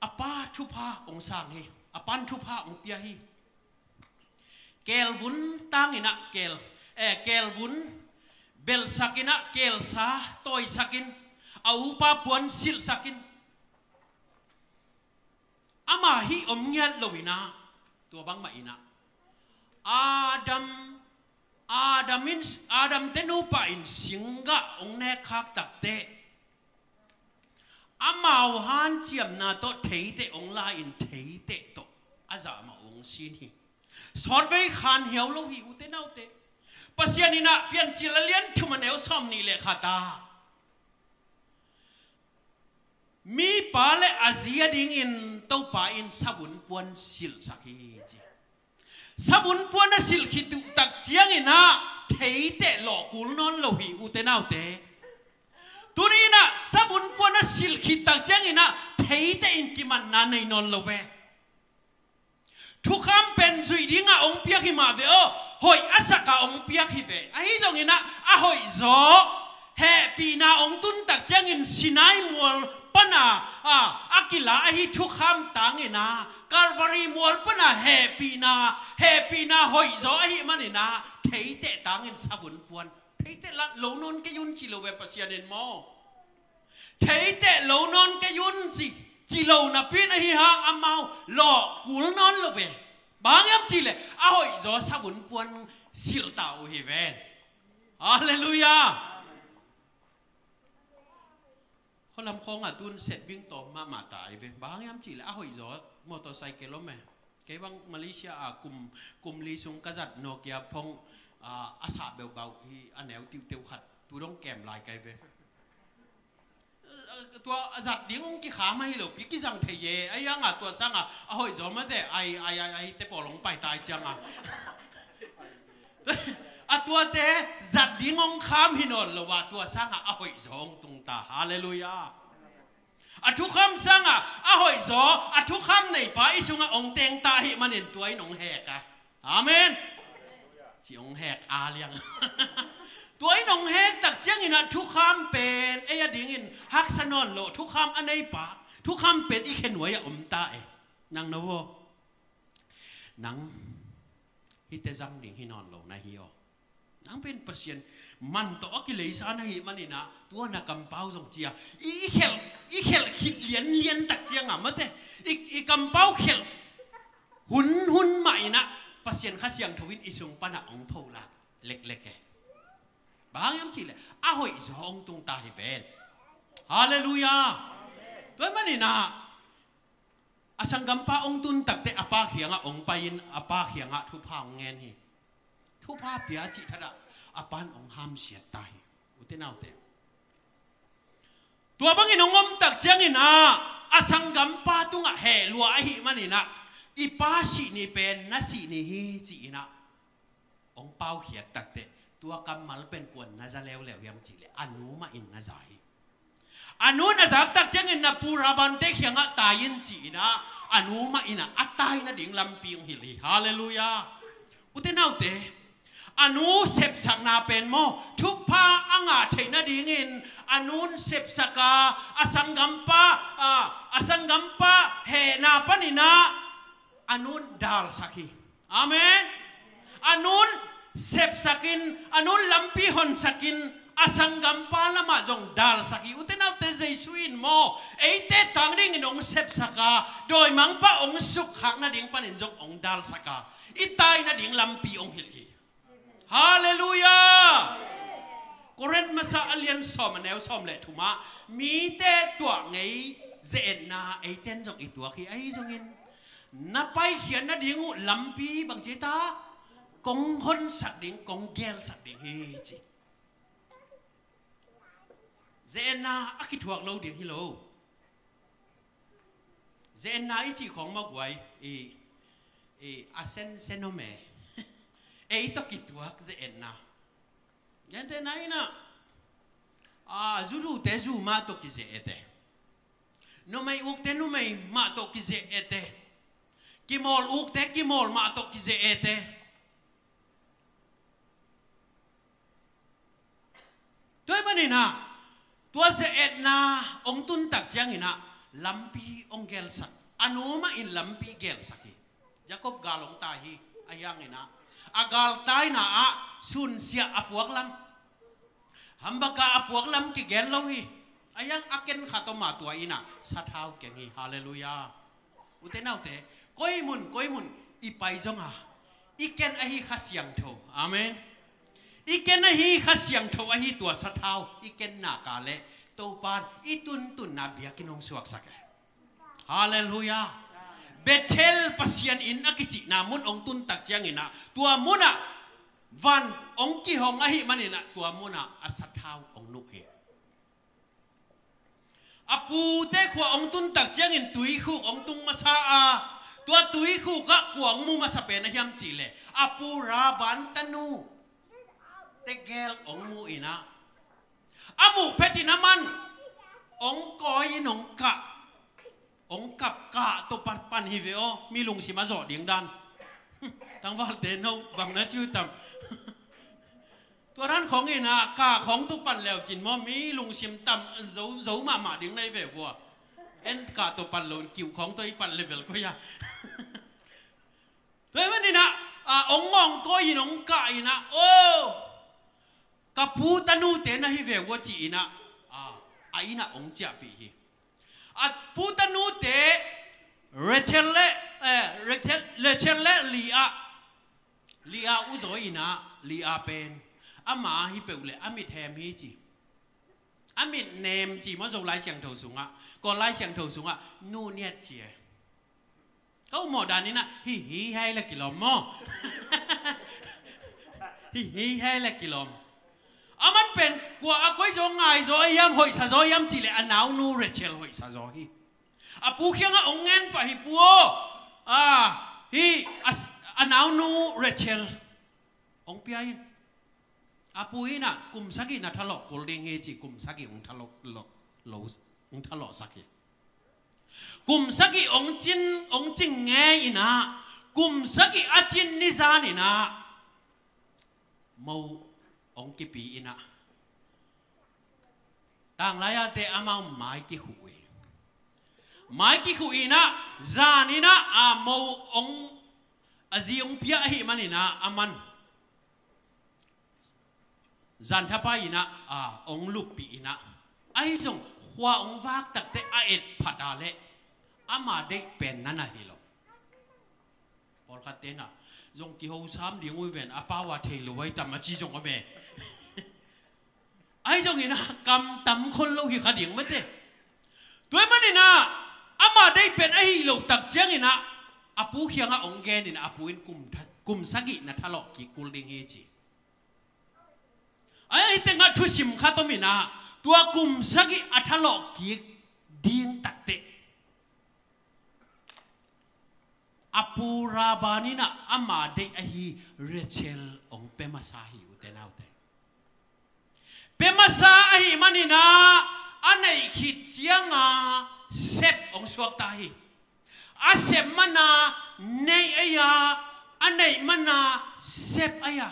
A pa thupha hong sang hi. A pan thupha hong pia hi. Kelvun tangin ah kel, eh, kelvun belsakin ah kelsa tawisakin a upa puan silhsakin ama hih om ngiat loin ah tua bangmah in ah Adam, Adam in, Adam te nupa in singgah hong nek khak takteh amau hanciamna tawh theiteh hong la-in theiteh tawh a zahmah hong sin hi. Sawtvei khan hiau lo hi, ute naute. Pasian in ah Piancil a lian thum a neu sawm nih le khat ah mipa le a zi a dingin Topa in savun puan silhsak hi ci. Savun puan a silh khit uh tak ciangin ah theiteh lawh kul nawn lo hi, ute naute. Tuni in ah savun puan a silh khit tak ciangin ah theiteh in kimanna nei nawn lo ve. Thukham pen zuih dingah hong piak hi mah ve aw, hoih a sakah hong piak hi ve. Ahi zongin ah a hoih zaw hehpihna hong tun tak ciangin Sinai mual pana, a, a kila ahi thukham tangin ah Calvary mual pana hehpihna, hehpihna hoih zaw ahih manin ah theiteh tangin savun puan. Theiteh la lo nawn kei un ci lo ve Pasian in maw. Theiteh lo nawn kei un ci, ci lo napi in ahi hang amau lawh kul nawn lo ve. Bang hiam cih leh a hoih zaw savun puan silh ta uh hi ven. Halleluiah. Khualam khawngah tun setbing tawm mahmah ta ahi ve. Bang hiam cih leh a hoih zaw motorcycle om e. Kei bang Malaysia ah kum, kum li sung ka zat Nokia phone, ah, a sah beubau hi, a neu tiuhteuh khat tu dong kem lai kai ve. Tua a zat ding hong kikham ahi lo pi kizang thei e. Ahi hangah tua sangah a hoih zaw mate ai, ai, ai, ai te pawl hong pai tai ciangah a tuate zat ding hong kham hi nawn lo ah tua sangah a hoih zaw hong tung ta. Halleluiah. A thukham sangah a hoih zaw, a thukham neipa i sungah hong teng ta ahih manin tua in hong hek a. Amen. Ci hong hek a liang. Tua in hong hek tak ciangin ah thukham pen ei a dingin haksa nawn lo, thukham a neipa, thukham pen i khenuai ah om ta e. Nang na vaw. Nang hihte zang ding hi nawn lo na hi aw. Nang pen Pasian man tawh a kileisa na hih manin ah tua na kampau zong cia i, i khelh, i khelh khit lianlian tak ciangah mate i, i kampau khelh hun, hun mah in ah Pasian Kha Siangtho in i sung panah hong pholak leklek e. Bang hiam cih leh a hoih zaw hong tung ta hi ven. Halleluiah. Tua ahih manin ah a sanggampa hong tun takteh a pa kiangah hong pai-in a pa kiangah thupha hong ngen hi. Thupha pia cih thatah a pan hong hamsiat ta hi. Ute naute, tua bangin hong om tak ciangin ah a sanggampa tungah heh lua ahih manin ah i pa sih ni pen na sih ni hi ci-in ah hong paukhiat takteh tua kammal pen kuan na za leuleu hiam cih leh a nu mah in na za hi. A nu na zak tak ciangin na pu Rabante kiangah tai in ci-in ah a nu mah in ah a tai nading lampi hong hilh hi. Halleluiah. Ute naute, a nu sepsakna pen maw thupha a ngah theih nadingin a nun sepsak a, a sanggampa, a, a sanggampa hehna panin ah a nun dalsak hi. Amen. A nun sepsakin, a nun lampi honsakin a sanggampa lamah zong dalsak hi. Ute naute, Jesu in maw eite tang dingin hong sepsak a, dawimangpa hong sukkhak nading panin zong hong dalsak a, i tai nading lampi hong hilh hi. Halleluiah. Korin masa a lian sawm a neu sawm le thumah mite tuah ngei ze-etna eiten zong i tuak hi. Ahi zongin na paikhiat nading uh lampi bangci ta kong honsak ding, kong gelsak ding hi ci. Ze-etna a kithuak lo ding hi lo. Ze-etna i cih khawng mah guai i, i a sensen om e. Ei tawh kituak ze-etna. Gentehna in ah A, zu dute zu mah tawh kizeh ete. Numei ukte numei mah tawh kizeh ete. Kimawl ukte kimawl mah tawh kizeh ete. Tua ahih manin ah, tua zeh etna hong tun tak ciangin ah, lampi hong gelsak. A nu mah in lampi gelsak hi. Jacob gal hong tai hi, ahi hangin ah, a galtaina ah sunsia a puak lam, hambaka a puak lam kigen lo hi. Ahi hang a ken khat om a, tua in ah sathau keng hi. Halleluiah. Ute naute, koi mun koi mun i pai zong a, i ken ahi Kha Siangtho. Amen. I ken ahi Kha Siangtho ahi tua sathau i ken nak leh, Topa'n i tuntunna biakinn hong suaksak e. Halleluiah. Bethel, Pasian inn a kicihna mun hong tun tak ciangin ah, tua mun ah van hong kihong ahih manin ah, tua mun ah a sathau hong nuh hi. A pute khua hong tun tak ciangin tuikhuk hong tung masa a, tua tuikhuk ah kua hong mu masa pen a hiam cih leh, a pu Laban tanu tegel hong mu in ah, a muh phetin aman hong kawi in hong kah, hong kap, kah tawh pan, pan hi ve aw, mi lungsim a zawh ding dan. Tangvalte no bang na ci uh tam? Tua dan khawng in ah, kah khawng tawh pan le uh cin maw, mi lungsim tam zo, zo mahmah ding na hi ve uh a. En kah tawh pan lo in kiu khawng tawh i pan le bel koi a. Tua ahih manin ah, a, hong ngawng kawi in hong kah in ah, aw, ka pu tanute na hi ve uh a ci in ah, a, a inn ah hong ciahpih hi. A pu tanute Rachel le, eh, Rachel, Rachel le Leah, Leah uh zaw in ah, Leah pen ama hi peuh leh a mit hem hi ci. A mit nem ci maw, Zo Lai Siangtho sungah, Kawl Lai Siangtho sungah nu niat ci e. Ka ummawh dan in ah, hi hi hai le kilawm maw? Hi hi hai le kilawm. Aman pen kua a koi zaw, ngai zaw a hiam, hoihsa zaw hiam cih leh, a naunu Rachel hoihsa zaw hi. A pu kiangah hong ngen pah hi, pu aw, a, hi a, a naunu Rachel hong pia in. A pu in ah, kum sagih na thalawh kul ding hi ci, kum sagih hong thalawh, lo, lo, hong thalawhsak hi. Kum sagih hong cin, hong cing ngei in ah, kum sagih a cin ni zan in ah, mo hong kipia in ah, tanglai-ate amau mai kikhuh hi. Mai kikhuh in ah, zan in ah, a mo hong, a zi hong pia ahih manin ah, aman zan thapai in ah, a, hong luppih in ah, ahi zong khua hong vak takteh a et phat a leh ama deih pen na na hi lo. Pawlkhatte in ah, zong kiho sam ding uh hi ven, a pau a thei lo uh hi tam a ci zong om e. Ahi zongin ah, kam tam khol lo hi kha ding mate. Tua ahih manin ah, ama deih pen ahi loh tak ciangin ah, a pu kiangah hong gen in ah, a pu in kum tha-, kum sagih na thalawh kik kul ding hi ci. Ahi tengah thusim khat om in ah, tua kum sagih a thalawh kik ding takteh, a pu Laban in ah ama deih ahi Rachel hong pia masa hi, ute naute. Pia masa ahih manin ah, a neih khit ciang a sep hong suakta hi. A sep man a neih ei a, a neih man a sep ei a.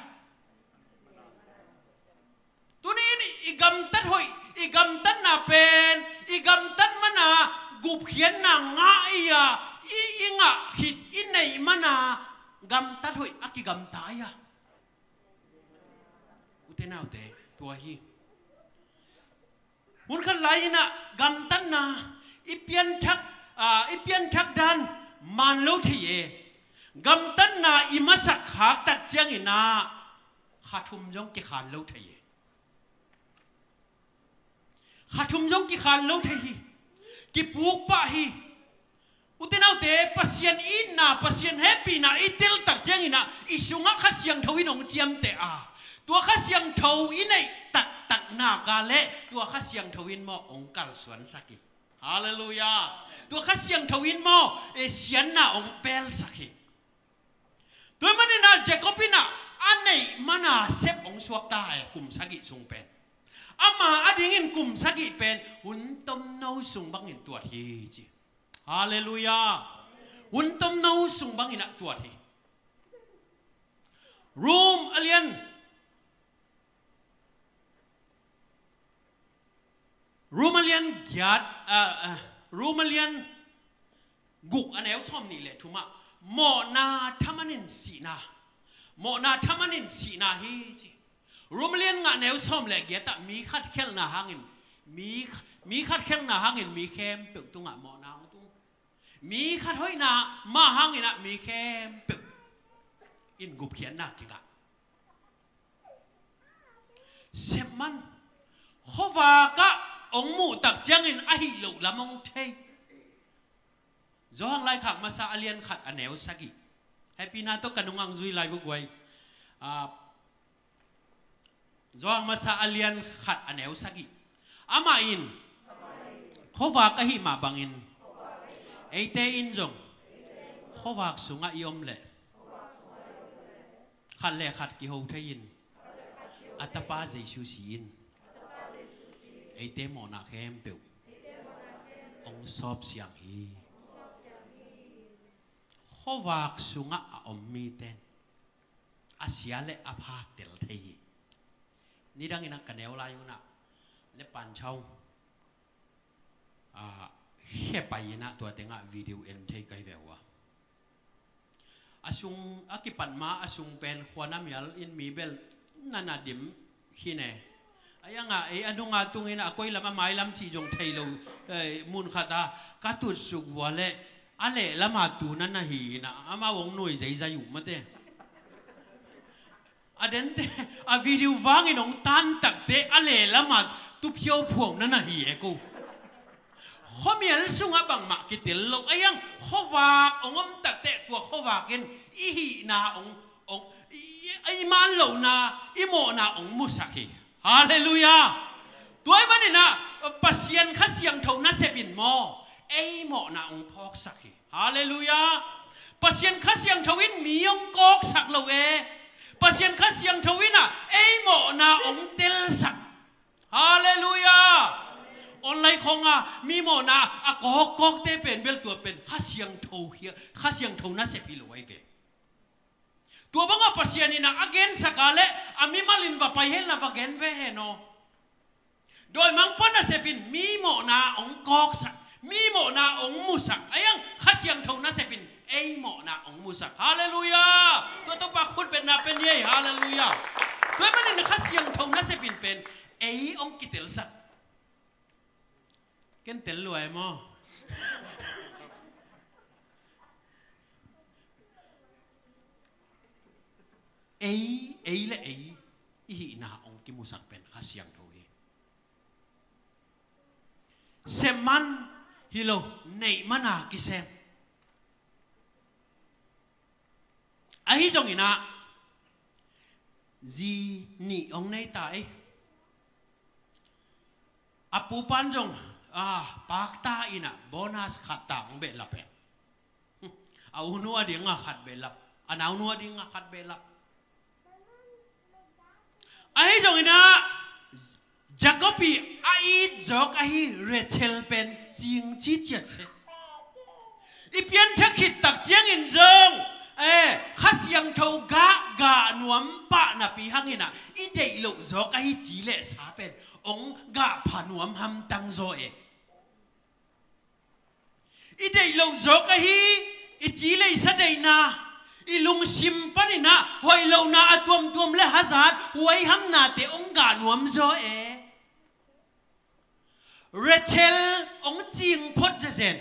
Tuni in i gamtat hoih, i gamtatna pen, i gamtat man a gupkhiatna ngah ei a, i, i ngah khit i neih man a gamtat hoih a kigamta ei a. Ute naute, tua hi. Hun khat lai in ah gamtatna i pianthak, a, i pianthak dan man lo thei e. Gamtatna i masak khak tak ciangin ah kha thum zong kikhan lo thei e. Kha thum zong kikhan lo thei hi. Kipuk pah hi. Ute naute, Pasian itna, Pasian hehpihna i tel tak ciangin ah, i sungah Kha Siangtho in hong ciamteh a, tua Kha Siangtho i neih taktak nak leh, tua Kha Siangtho in maw hong kalsuansak hi. Halleluiah. Tua Kha Siangtho in maw, e, siatna hong pelsak hi. Tua ahih manin ah Jacob in ah a neih man a sep hong suakta e, kum sagih sung pen. Ama a dingin kum sagih pen hun tomno sung bangin tuat hi ci. Halleluiah. Hun tomno sung bangin ah tuat hi. Rom a lian Rom a lian giat, ah, ah, Rom a lian guk a neu sawm nih le thumah mawhna thamanin sihna, mawhna thamanin sihna hi ci. Rom a lian nga neu sawm le giatah mi khat khelhna hangin mi, mi khat khelhna hangin mi khempeuh tungah mawhna hong tung. Mi khat hoihna mah hangin ah mi khempeuh in gupkhiatna kingah. Sepman khuavakah hong muh tak ciangin a hih loh lam hong thei. Johan laikhak masa a lian khat a neu sagih. Happy na tawh ka nungah zui lai vua guai. Ah, Johan masa a lian khat a neu sagih. Amah in khuavak ahih mah bangin eite in zong khuavak sungah i om leh khat le khat kiho thei-in a Tapa Jesu si-in eite mawhna khempeuh hong sawp siang hi. Khuavak sungah a om mite in a sia le a pha tel thei hi. Nidangin a ka neu lai un ah le pan chau, ah, khe pai in ah tua tengah video en thei kai ve uh a. A sung a kipat ma a sung pen khuana mial in mi bel nana dim hi ne. A ianga ei a nunga tungin a koi lam a mai lam cih zong thei lo, eh, mun khat a ka tutsuk vua le a leh lama tu nana hi in ah amau hong nui zeizai uh mate. A dente a video vangin hong tan takte a leh lama tu phiauphuau nana hi e ko. Khuamial sungah bangmah kitel lo a iang khuavak hong om takte tua khuavak in i hihna hong, hong i, i, i man lohna i mawhna hong musak hi. Halleluiah. Tua ahih manin ah Pasian Kha Siangtho nasep in maw ei mawhna hong phawksak hi. Halleluiah. Pasian Kha Siangtho in mi hong kawksak lo e. Pasian Kha Siangtho in ah ei mawhna hong telsak. Halleluiah. Online khawngah mi mawhna a kawkkawkte pen bel tua pen Kha Siangtho hi, Kha Siangtho nasep hi lo ahi ve. Tua bangah Pasian in ah a gensak a le a mimal in va pai hen la va gen ve hen aw. Dawimangpa nasep in mi mawhna hong kawksak, mi mawhna hong musak a iang Kha Siangtho nasep in ei mawhna hong musak. Halleluiah. Tua Topa khut betna pen hi ei. Halleluiah. Tua ahih manin Kha Siangtho nasep in pen ei hong kitelsak. Ken tel lua e maw? Ei, ei le ei i hihna hong kimusak pen Kha Siangtho hi. Sem man hi lo, neih mana kisem. Ahi zongin ah zi nih hong nei ta ei. A pupan zong, ah, pakta in ah bonus khat ta hong behlap e. A unu a dingah khat behlap, a naunu a dingah khat behlap. Ahi zongin ah Jacob i a it zawk ahi Rachel pen cing ci ciat se. I pianthak khit tak ciangin zong, eh, Kha Siangtho gah, gah nuam pah napi hangin ah i deih loh zawk ahi ci le sa pen hong gah pha nuam hamtang zaw e. I deih loh zawk ahi i ci le i sa deihna, i lungsim panin ah hoih lohna a tuamtuam le hazat huaihamnate hong gah nuam zaw e. Rachel hong cing phot zezen.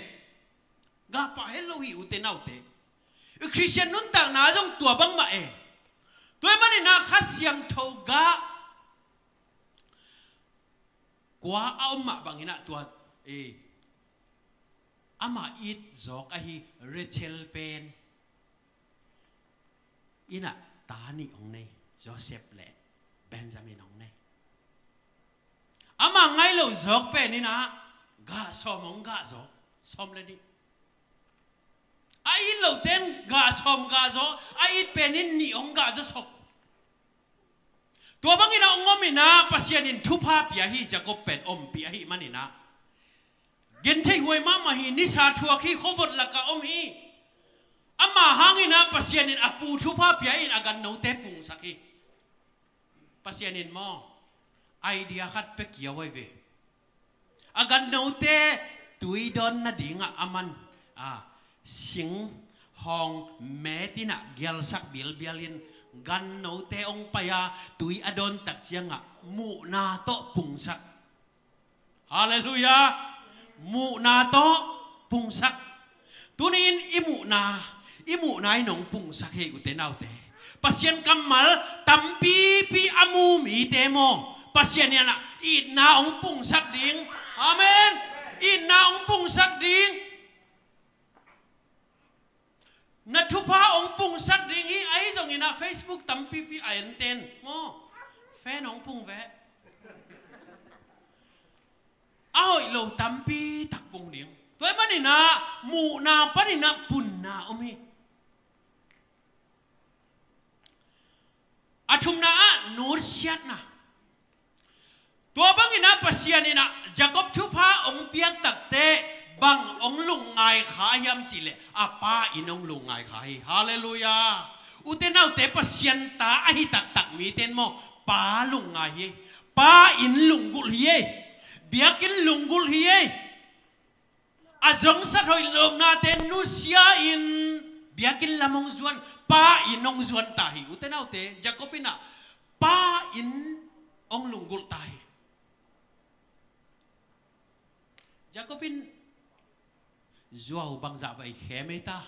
Gah pah het lo hi ute naute. I Khristian nuntakna zong tua bangmah e. Tua ahih manin ah Kha Siangtho gah kua a om mah bangin ah tua, eh, amah it zawk ahi Rachel pen in ah ta nih hong nei, Joseph le Benjamin hong nei. Amah ngaih loh zawk pen in ah gah sawm hong gah zaw, sawm le nih. A it loh ten gah sawm gah zaw, a it pen in nih hong gah zaw sawm. Tua bangin ah hong om in ah Pasian in thupha pia hi. Jacob pen ompih ahih manin ah genthei huai mahmah hi. Nisa thuak hi. Khuavot lakah om hi. Ama hangin ah Pasian in a pu thupha pia in a gannote pungsak hi. Pasian in maw, idea khat pia kia huai ve. A gannote tui dawn nadingah a man, a, sing hawng met in ah gialsak bialbial in gannote hong pai a, tui a dawn tak ciangah muhna tawh pungsak. Halleluiah. Muhna tawh pungsak. Tuni-in i muhna, i muhna in hong pungsak hi, ute naute. Pasian kammal tampipi a mu mite maw, Pasian in ah itna hong pungsak ding. Amen. Itna hong pungsak ding. Na thupha hong pungsak ding hi. Ahi zongin ah Facebook tampipi a enten maw, fan hong pung ve. A hoih lo tampi tak pung ding. Tua ahih manin ah muhna panin ah punna om hi. A thumna ah nutsiatna. Tua bangin ah Pasian in ah Jacob thupha hong piak takteh bang hong lungngai kha hiam cih leh a pa inn hong lungngai kha hi. Halleluiah. Ute naute, Pasian ta ahi taktak mite in maw, pa lungngai hi. Pa inn lunggulh hi. Biakinn lunggulh hi. A zongsat hoih lohnate nusia in biakinn lam hong zuan, pa inn hong zuan ta hi. Ute naute, Jacob in ah pa inn hong lunggulh ta hi. Jacob in zuau bangzah vei khem ei ta.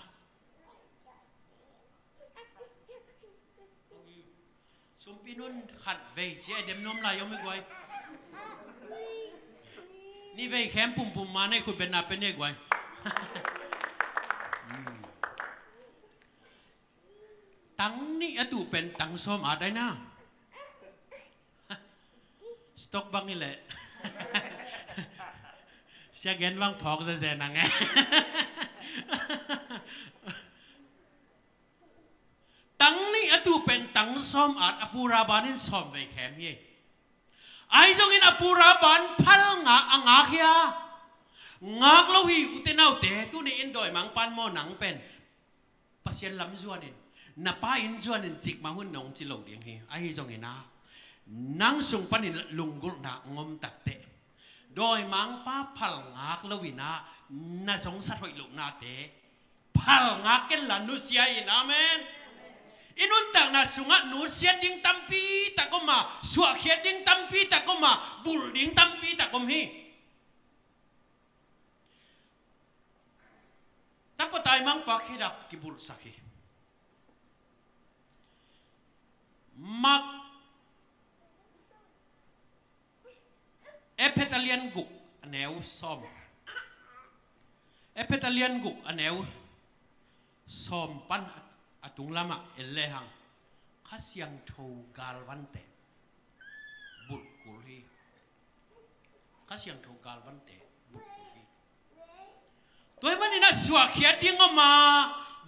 Sumpi nun khat vei ci a dem nuam lai om hi guai. Ni vei khem pumpum ma nei khut betna pen hi guai. Tang nih a tuh pen tang sawm at ai na. Stock bang hi leh. Sia gen bang phawk zeze nang e. Tang nih a tuh pen tang sawm at a pu Laban in sawm vei khem hi. Ahi zongin a pu Laban phal ngak a ngak hia? Ngak lo hi, ute naute. Tuni in dawimangpa'n maw, nang pen Pasian lam zuanin, na pa inn zuanin cikmah hun nong ci lo ding hi. Ahi zongin ah nang sung panin lunggulhna ngom takteh dawimangpa phal ngak lo in ah na zongsat hoih lohnate phal ngak ken la nusia in. Amen. I nuntakna sungah nusiat ding tampi tak om a, suahkhiat ding tampi tak om a, bulh ding tampi tak om hi. Tapa taimangpa khedap kibulhsak hi. Mak Ephet a lian guk a neu sawm. Ephet a lian guk a neu sawm pan a, a tunglamah en lehang Kha Siangtho galvante bulhkul hi. Kha Siangtho galvante bulhkul hi. Tua ahih manin ah suahkhiat ding om a,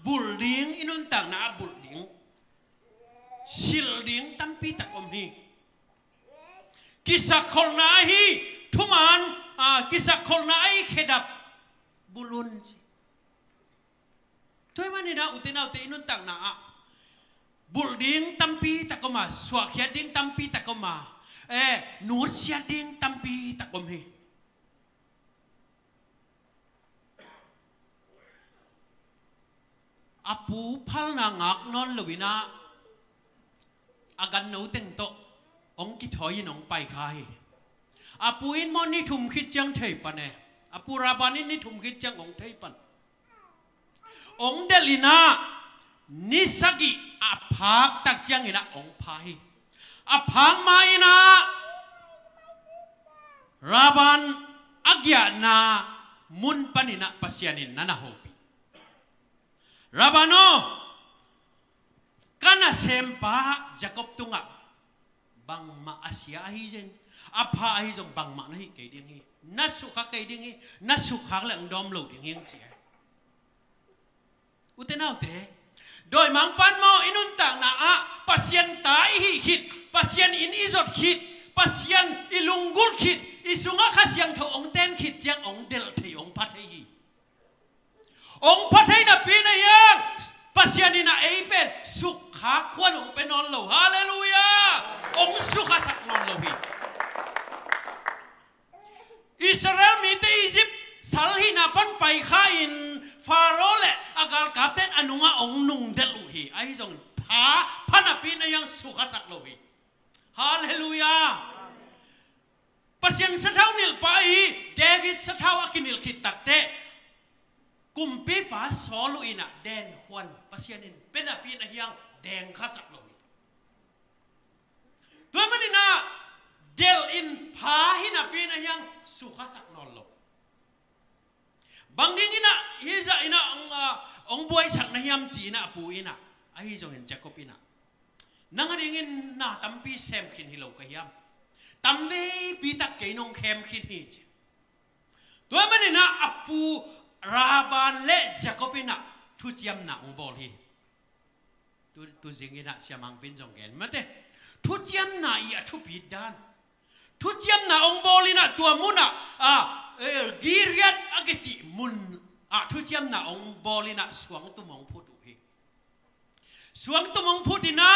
bulh ding, i nuntakna ah bulh ding, silh ding tampi tak om hi. Kisakkholhna ahi thuman, a, kisakkholhna ahi khedap bulh un ci. Tua ahih manin ah ute naute, i nuntakna ah bulh ding tampi tak om a, suahkhiat ding tampi tak om a, eh, nutsiat ding tampi tak om hi. A pu phalna ngak nawn lo in ah a ganno teng tawh hong kithawi in hong pai kha hi. A pu in maw ni thum khit ciang thei pan e. A pu Laban in ni thum khit ciang hong thei pan. Hong delh in ah ni sagih a phak tak ciangin ah hong pha hi. A phak ma in ah Laban a giahna mun panin ah Pasian in na na hopih. Laban aw, ka nasempa Jacob tungah bangmah a sia ahi zong, a pha ahi zong bangmah na hih kei ding hi. Na sukha kei ding hi. Na sukkhak leh hong dawm lo ding hi hong ci hi. Ute naute, Dawimangpa'n maw, i nuntakna ah Pasian ta i hih khit, Pasian inn i zot khit, Pasian i lunggulh khit, i sungah Kha Siangtho hong ten khit ciang hong delh thei, hong pha thei hi. Hong pha thei napi-in a hiang, Pasian in a ei pen sukha khuan hong pia nawn lo. Halleluiah. Hong sukhasak nawn lo hi. Israel mite Egypt sal hihna pan paikha-in Pharaoh le a galkapte'n a nungah hong nungdelh uh hi. Ahi zongin pha, pha napi-in a hiang sukhasak lo hi. Halleluiah. Pasian sathau nilh pa ahi David sathau a kinilh khit takteh kumpipa Saul uh in a dengkhuan Pasian in pia napi-in a hiang dengkhasak lo hi. Tua manin a delh in pha hi napi-in a hiang sukhasak nawn lo. Bang dingin a hih zah in a hong, ah, hong buaisak na hiam ci-in a, a pu in a, ahi zongin Jacob in a, nang a dingin na tampi sem khin hi lo ka hiam? Tamveipi tak kei nong khem khin hi ci. Tua manin a, a pu Laban le Jacob in a thuciamna hong bawl hi. Tu, tu zingin a siamangpi'n zong gen mate. Thuciamna i a thupit dan. Thuciamna hong bawl in a tua mun ah, a, eh, Gilead a kici mun ah thuciamna hong bawl in a suangtum hong phut uh hi. Suangtum hong phut in a,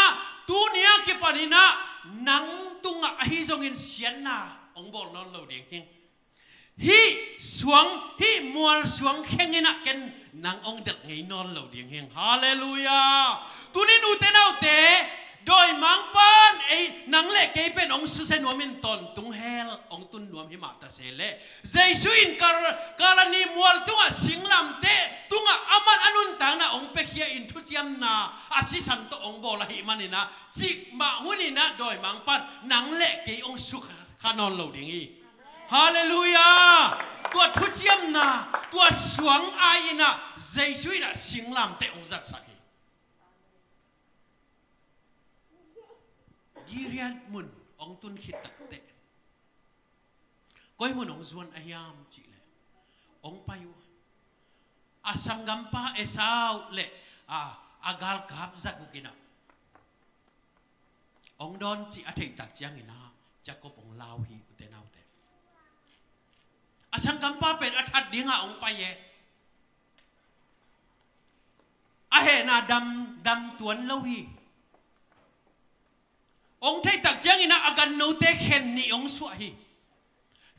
tuni a kipan in a nang tungah ahi zongin siatna hong bawl nawn lo ding hi. Hih suang, hih mual suang kheng in a ken nang hong delh ngei nawn lo ding hi. Halleluiah. Tuni ute naute, dawimangpa'n ei, nang le kei pen hong susia nuamin tawntung hell hong tun nuam hi mah ta se leh, Jesu in Kal-, Kalvari mual tungah singlamteh tungah aman a nuntakna hong piakhia in thuciamna a sisan tawh hong bawl ahih manin a, cikmah hun in a dawimangpa'n nang le kei hong sukha nawn lo ding hi. Halleluiah. Tua thuciamna, tua suang ai in a Jesu in a singlamteh hong zatsak hi. Gilead mun hong tun khit takteh, koi mun hong zuan a hiam cih leh, hong pai uh. A sanggampa Esau le, a, a galkap zaguk in a hong dawn cih a theih tak ciangin a, Jacob hong lau hi ute naute. A sanggampa pen a that dingah hong pai e. A hehna dam, dam tuan lo hi. Hong theih tak ciangin a, a gannote khen nih hong suah hi.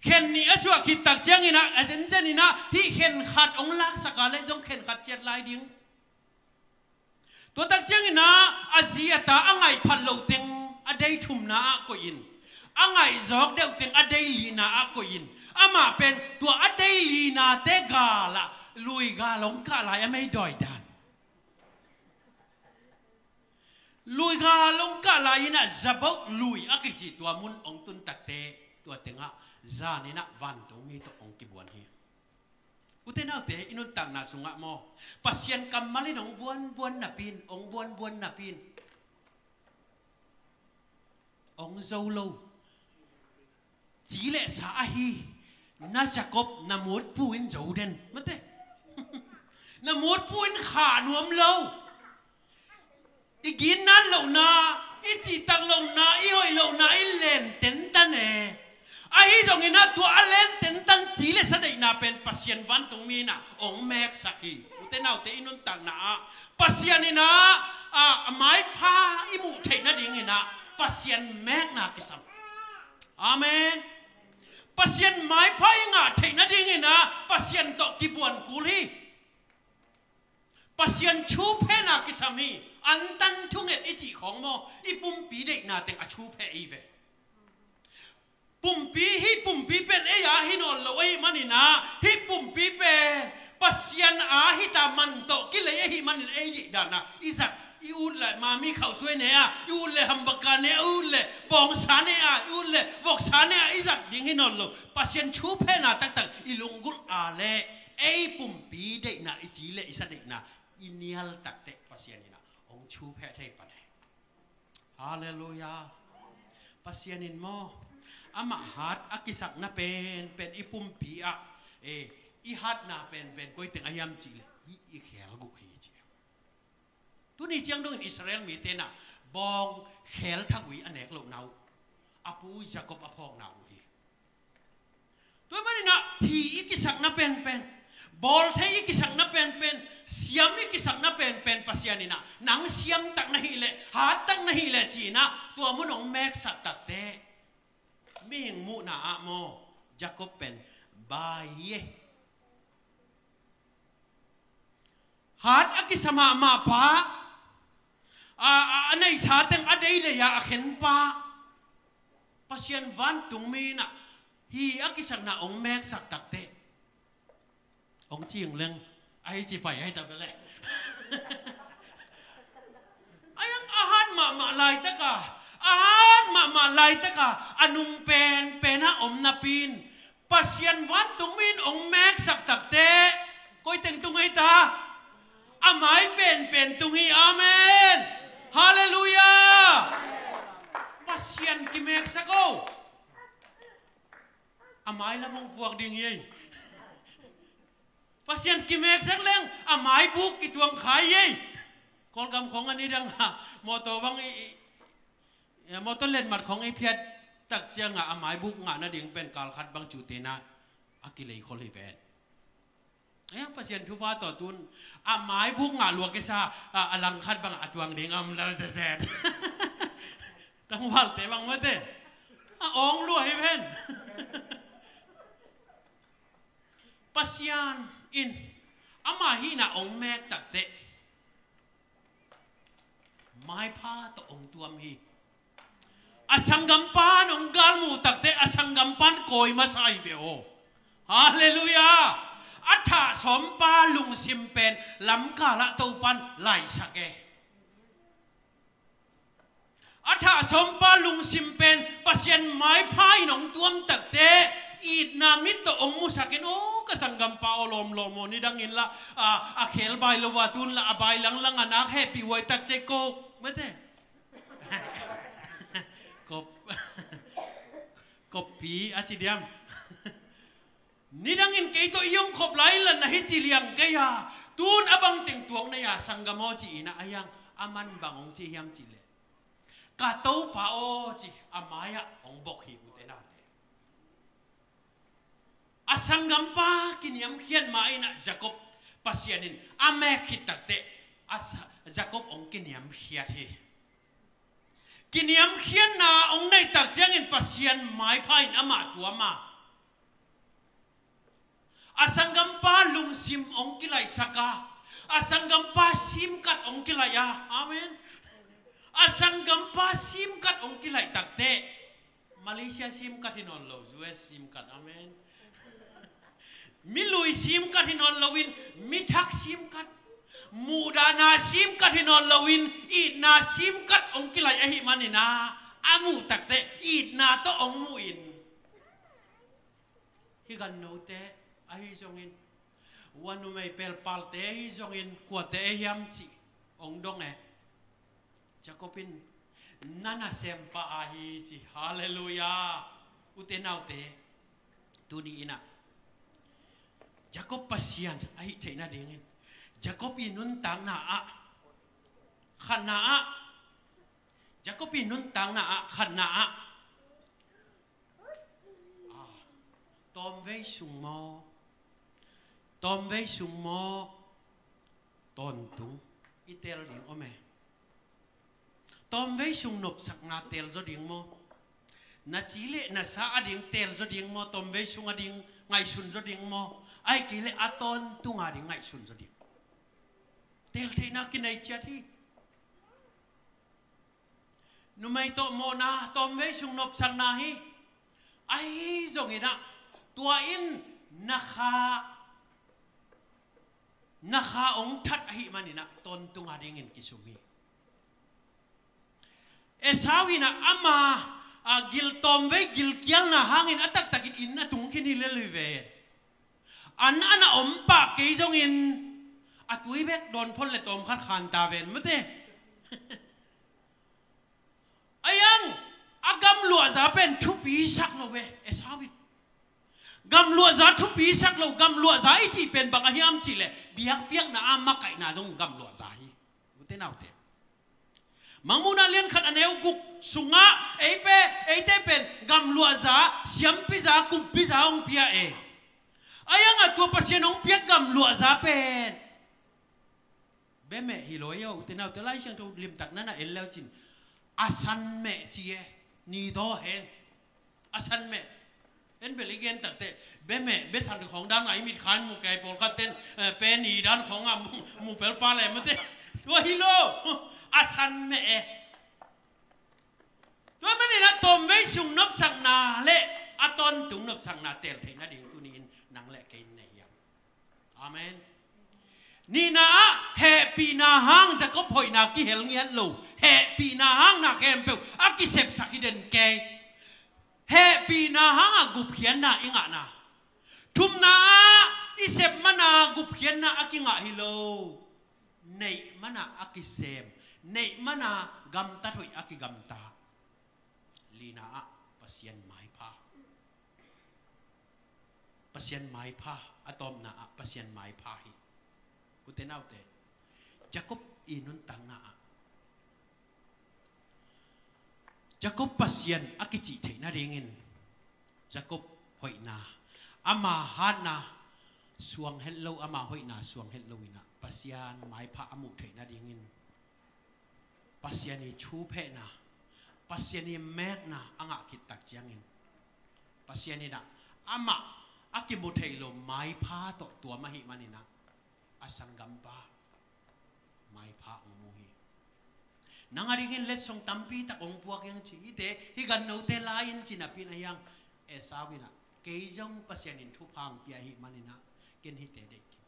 Khen nih a suah khit tak ciangin a, a zenzen in a, hih khen khat hong laksak a leh zong khen khat ciat lai ding. Tua tak ciangin a, a zi a ta a ngaih phat loh teng a dei thumna ah koih in, a ngaih zawk deuh teng a dei lina ah koih in, amah pen tua a dei linate gal ah lui gal hong kah lai a mei dawi dan. Lui gal hong kah lai in a, Jabbok lui a kici tua mun hong tun takteh, tua tengah zan in a vantungmi tawh hong kibuan hi. Ute naute, i nuntakna sungah maw, Pasian kammal in hong buanbuan napi-in, hong buanbuan napi-in hong zo lo. Ci le sa ahi na Jacob na mutpu in zo den mate. Na mutpu in khah nuam lo. I ginat lohna, i cihtak lohna, i hoih lohna i len tentan e. Ahi zongin a, tua a len tentan ci le sa deihna pen Pasian vantungmi in a hong meksak hi. Ute naute, i nuntakna ah Pasian in a, a, a maipha i muh theih nadingin a Pasian mekna kisam. Amen. Pasian maipha i ngah theih nadingin a Pasian tawh kibuan kul hi. Pasian thuphehna kisam hi. Antan thunget i cih khawng maw, i pumpi deihna teng a thupheh hi ve. Pumpi, hih pumpi pen ei a hi nawn lo ahih manin a, hih pumpi pen Pasian a hi ta man tawh kilei ahih manin ei deihdan a i zat, i ut le mami khauhsuai ne a, i ut le hambaka ne a, i ut le bawngsa ne a, i ut le voksa ne a i zat ding hi nawn lo. Pasian thuphehna taktak i lunggulh a leh ei pumpi deihna i ci le i sa deihna i nial takteh Pasian in a hong thupheh thei pan hi. Halleluiah. Pasian in maw, amah hat a kisakna penpen i pumpi ah, eh, i hatna penpen koi teng a hiam cih leh i, i khelguh hi ci. Tuni ciang dongin Israel mite na bawng khel thak ui a nek lohna uh a pu Jacob a phawkna uh hi. Tua maninah hi i kisakna penpen, bawl thei i kisakna penpen, siam i kisakna penpen Pasian inah nang siam tak na hih leh, hat tak na hih leh ci-inah tua mun hong meksak takte mihing muhna ah maw, Jacob pen bai hi e. Hat a kisa mahmah pa, a, a, a neihsa teng a deidei a a khen pa, Pasian vantungmi inah hi a kisakna hong meksak takte hong cing leng ahi ci pai ahi ta bele. Ayang a han mahmah laitaka, a han mahmah laitaka a nung penpena om napi-in Pasian vantungmi in hong meksak takte koi teng tung ahi ta? A mai penpen tung hi. Amen. Halleluiah. Pasian kimeksak o. A mai lam hong puak ding hi ei. Pasian kimeksak leng a maibuk kituang khai ei. Kawlgam khong a nidang a mawtaw bang i, i, i, mawtaw letmat khong i phiat tak cianga a maibuk ngah nading pen kal khat bang cu tena a kilei khol hi ven. Ayang Pasian thupha tawh tun a maibuk ngah lua kisa a, a lang khat bang a tuang ding a om lo sesen. Tangvalte bang mate a awng lua hi ven. Pasian in ama hihna hong mek takte maipha tawh hong tuam hi. A sanggampan hong galmuh takte a sanggampan kawi masa hi ve aw. Halleluiah. A thah sawmpa lungsim pen lamkalah Topan laisak e. A thah sawmpa lungsim pen Pasian maipha in hong tuam takte itna mit tawh hong musakin, aw ka sanggampa aw lawmlawm aw, nidangin lah a, a khel bai lo a tun lah a bai langlang a nak hehpih huai tak cei ko mate. Kop, koppi a ci diam. Nidangin kei tawh i hong khop lai in lah na hi ci liang kei a, tun a bangteng tuak nei a sanggam aw ci-in a, ayang a man bang hong ci hiam cih leh ka Topa aw ci a mai-ah hong bok hi ute naute. A sanggampa kiniamkhiat mah inah Jacob Pasian in a mek khit takte a sa-, Jacob hong kiniamkhiat hi. Kiniamkhiatna hong neih tak ciangin Pasian maipha in amah tuam a, a sanggampa lungsim hong kilaihsak a, a sanggampa simkat hong kilaih a. Amen. A sanggampa simkat hong kilaih takte Malaysia simkat hi nawn lo, U S simkat. Amen. Milui simkat hi nawn loin mithak simkat, muhdahna simkat hi nawn loin itna simkat hong kilaih ahih manin a, a muh takte itna tawh hong muhin, hih gannote ahi zongin, ua numei pelpalte ahi zongin kuate ahi hiam cih hong dong e. Jacob in na nasempa ahi ci. Halleluiah. Ute naute, tuni inah Jacob Pasian ahih theih nadingin Jacob i nuntakna ah khatna ah, Jacob i nuntakna ah khatna ah, ah, tawmvei sung maw, tawmvei sung maw, tawntung i teel ding om e. Tawmvei sung nopsakna teel zaw ding maw? Na ci le na sa ading teel zaw ding maw? Tawmvei sung ading ngaihsun zaw ding maw? Ahih kei leh a tawntung ading ngaihsun zaw ding. Teel theihna kinei ciat hi. Numei tawh mawhna tawmvei sung nopsakna hi. Ahi zongin ah tua in na kha, na kha hong that ahih manin ah tawntung adingin kisum hi. Esau in ah ama, a, gil tawmvei gilkialna hangin a taktakin inn a tung khin hi lel hi ve. An a na om pah kei zongin a tui bek dawn phot le tawmkhat khan ta ven mate. Ayang a gamluahza pen thupi sak lo ve Esau in. Gamluahza thupi sak lo, gamluahza i cih pen bang a hiam cih leh biakpiakna a makaihna zong gamluahza hi. Te naute, Mangmuhna lian khat a neu guk sungah ei pe, eite pen gamluahza, siampiza, kumpiza hong pia e. A iangah tua Pasian hong piak gamluahza pen bemeh hi lo e aw. Ute naute, Lai Siangtho limtak na na en leu cin a san meh ci e. Ni daw hen. A san meh. En bel i gen takte, bemeh, besan khawng dan a i mit khan mu kei pawlkhat ten, eh, pe ni dan khawng a mu, mu pel pa le mate. Tua hi lo. A san meh e. Tua manin a tawmvei sung nopsakna le a tawntung nopsakna tel theih nading tuni-in nang le kei in nei hiam? Amen. Nihna ah hehpihna hang Jacob hoihna kihel ngiat lo. Hehpihna hang na khempeuh a kisepsak hi den kei. Hehpihna hang a gupkhiatna i ngahna. Thumna ah i sep mana gupkhiatna a kingah hi lo. Neih mana a kisem. Neih mana gamtat hoih a kigamta. Lina ah Pasian maipha. Pasian maipha, a tawpna ah Pasian maipha hi. Ute naute, Jacob i nuntakna ah Jacob Pasian a kicih theih nadingin Jacob hoihna, ama hatna suang het lo, ama hoihna suang het lo in ah Pasian maipha a muh theih nadingin Pasian i thuphehna, Pasian i mekna a ngah khit tak ciangin Pasian in ah amah a kimu thei lo maipha tawh tuam ahih manin ah a sanggampa maipha hong mu hi. Nang a dingin letsong tampi tak hong puak ing ci, hite, hih gannote lai in ci napi in a hiang Esau in ah kei zong Pasian in thupha hong pia ahih manin ah ken hite deih kei.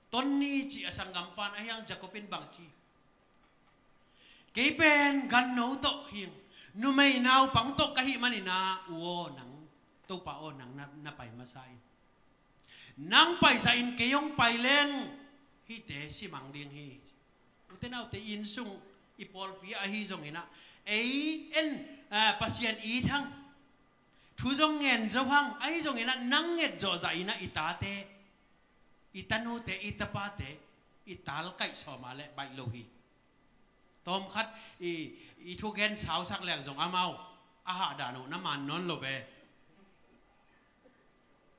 Ton ni ci a sanggampa in a hiang Jacob in bang ci? Kei pen ganno tawh hing, numei naupang tawh ka hih manin ah, u aw nang, Topa aw nang na, na pai masa in. Nang paisa in kei hong pai leng hihte simang ding hi. Ute naute, inn sung i pawlpi ahi zongin ah, ei en, ah, Pasian it hang, thu zong ngen zo hang, ahi zongin ah nang nget zawh zah in ah i tate, i tanute, i tapate i tal kaih sawm a leh baih lo hi. Tawmkhat i, i thugen sausak leng zong amau a hahdan uh na man nawn lo ve.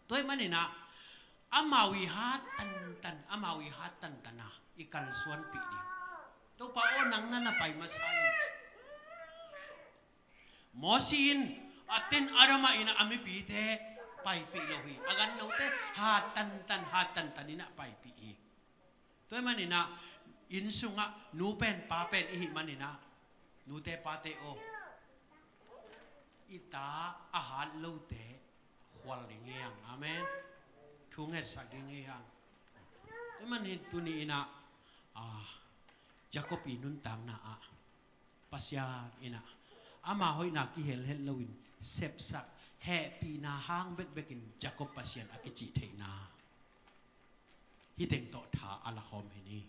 Tua ahih manin ah amau i hat tantan, amau i hat tantan a i kalsuanpih ding. Topa aw nang na na pai masa in. Mosi in a ten Adam a in ah a mipite paipih lo hi. A gannote hat tantan, hat tantan in ah paipih hi. Tua ahih manin ah inn sungah nu pen pa pen i hih manin ah, nute pate aw, i ta a hat lote khual ding hi hang. Amen. Thu ngetsak ding hi hang. Tua ahih manin tuni in ah, ah, Jacob i nuntakna ah Pasian in ah ama hoihna kihel het loin sepsak, hehpihna hang bekbekin Jacob Pasian a kicih theihna hih teng tawh tha a la khawm hi ni.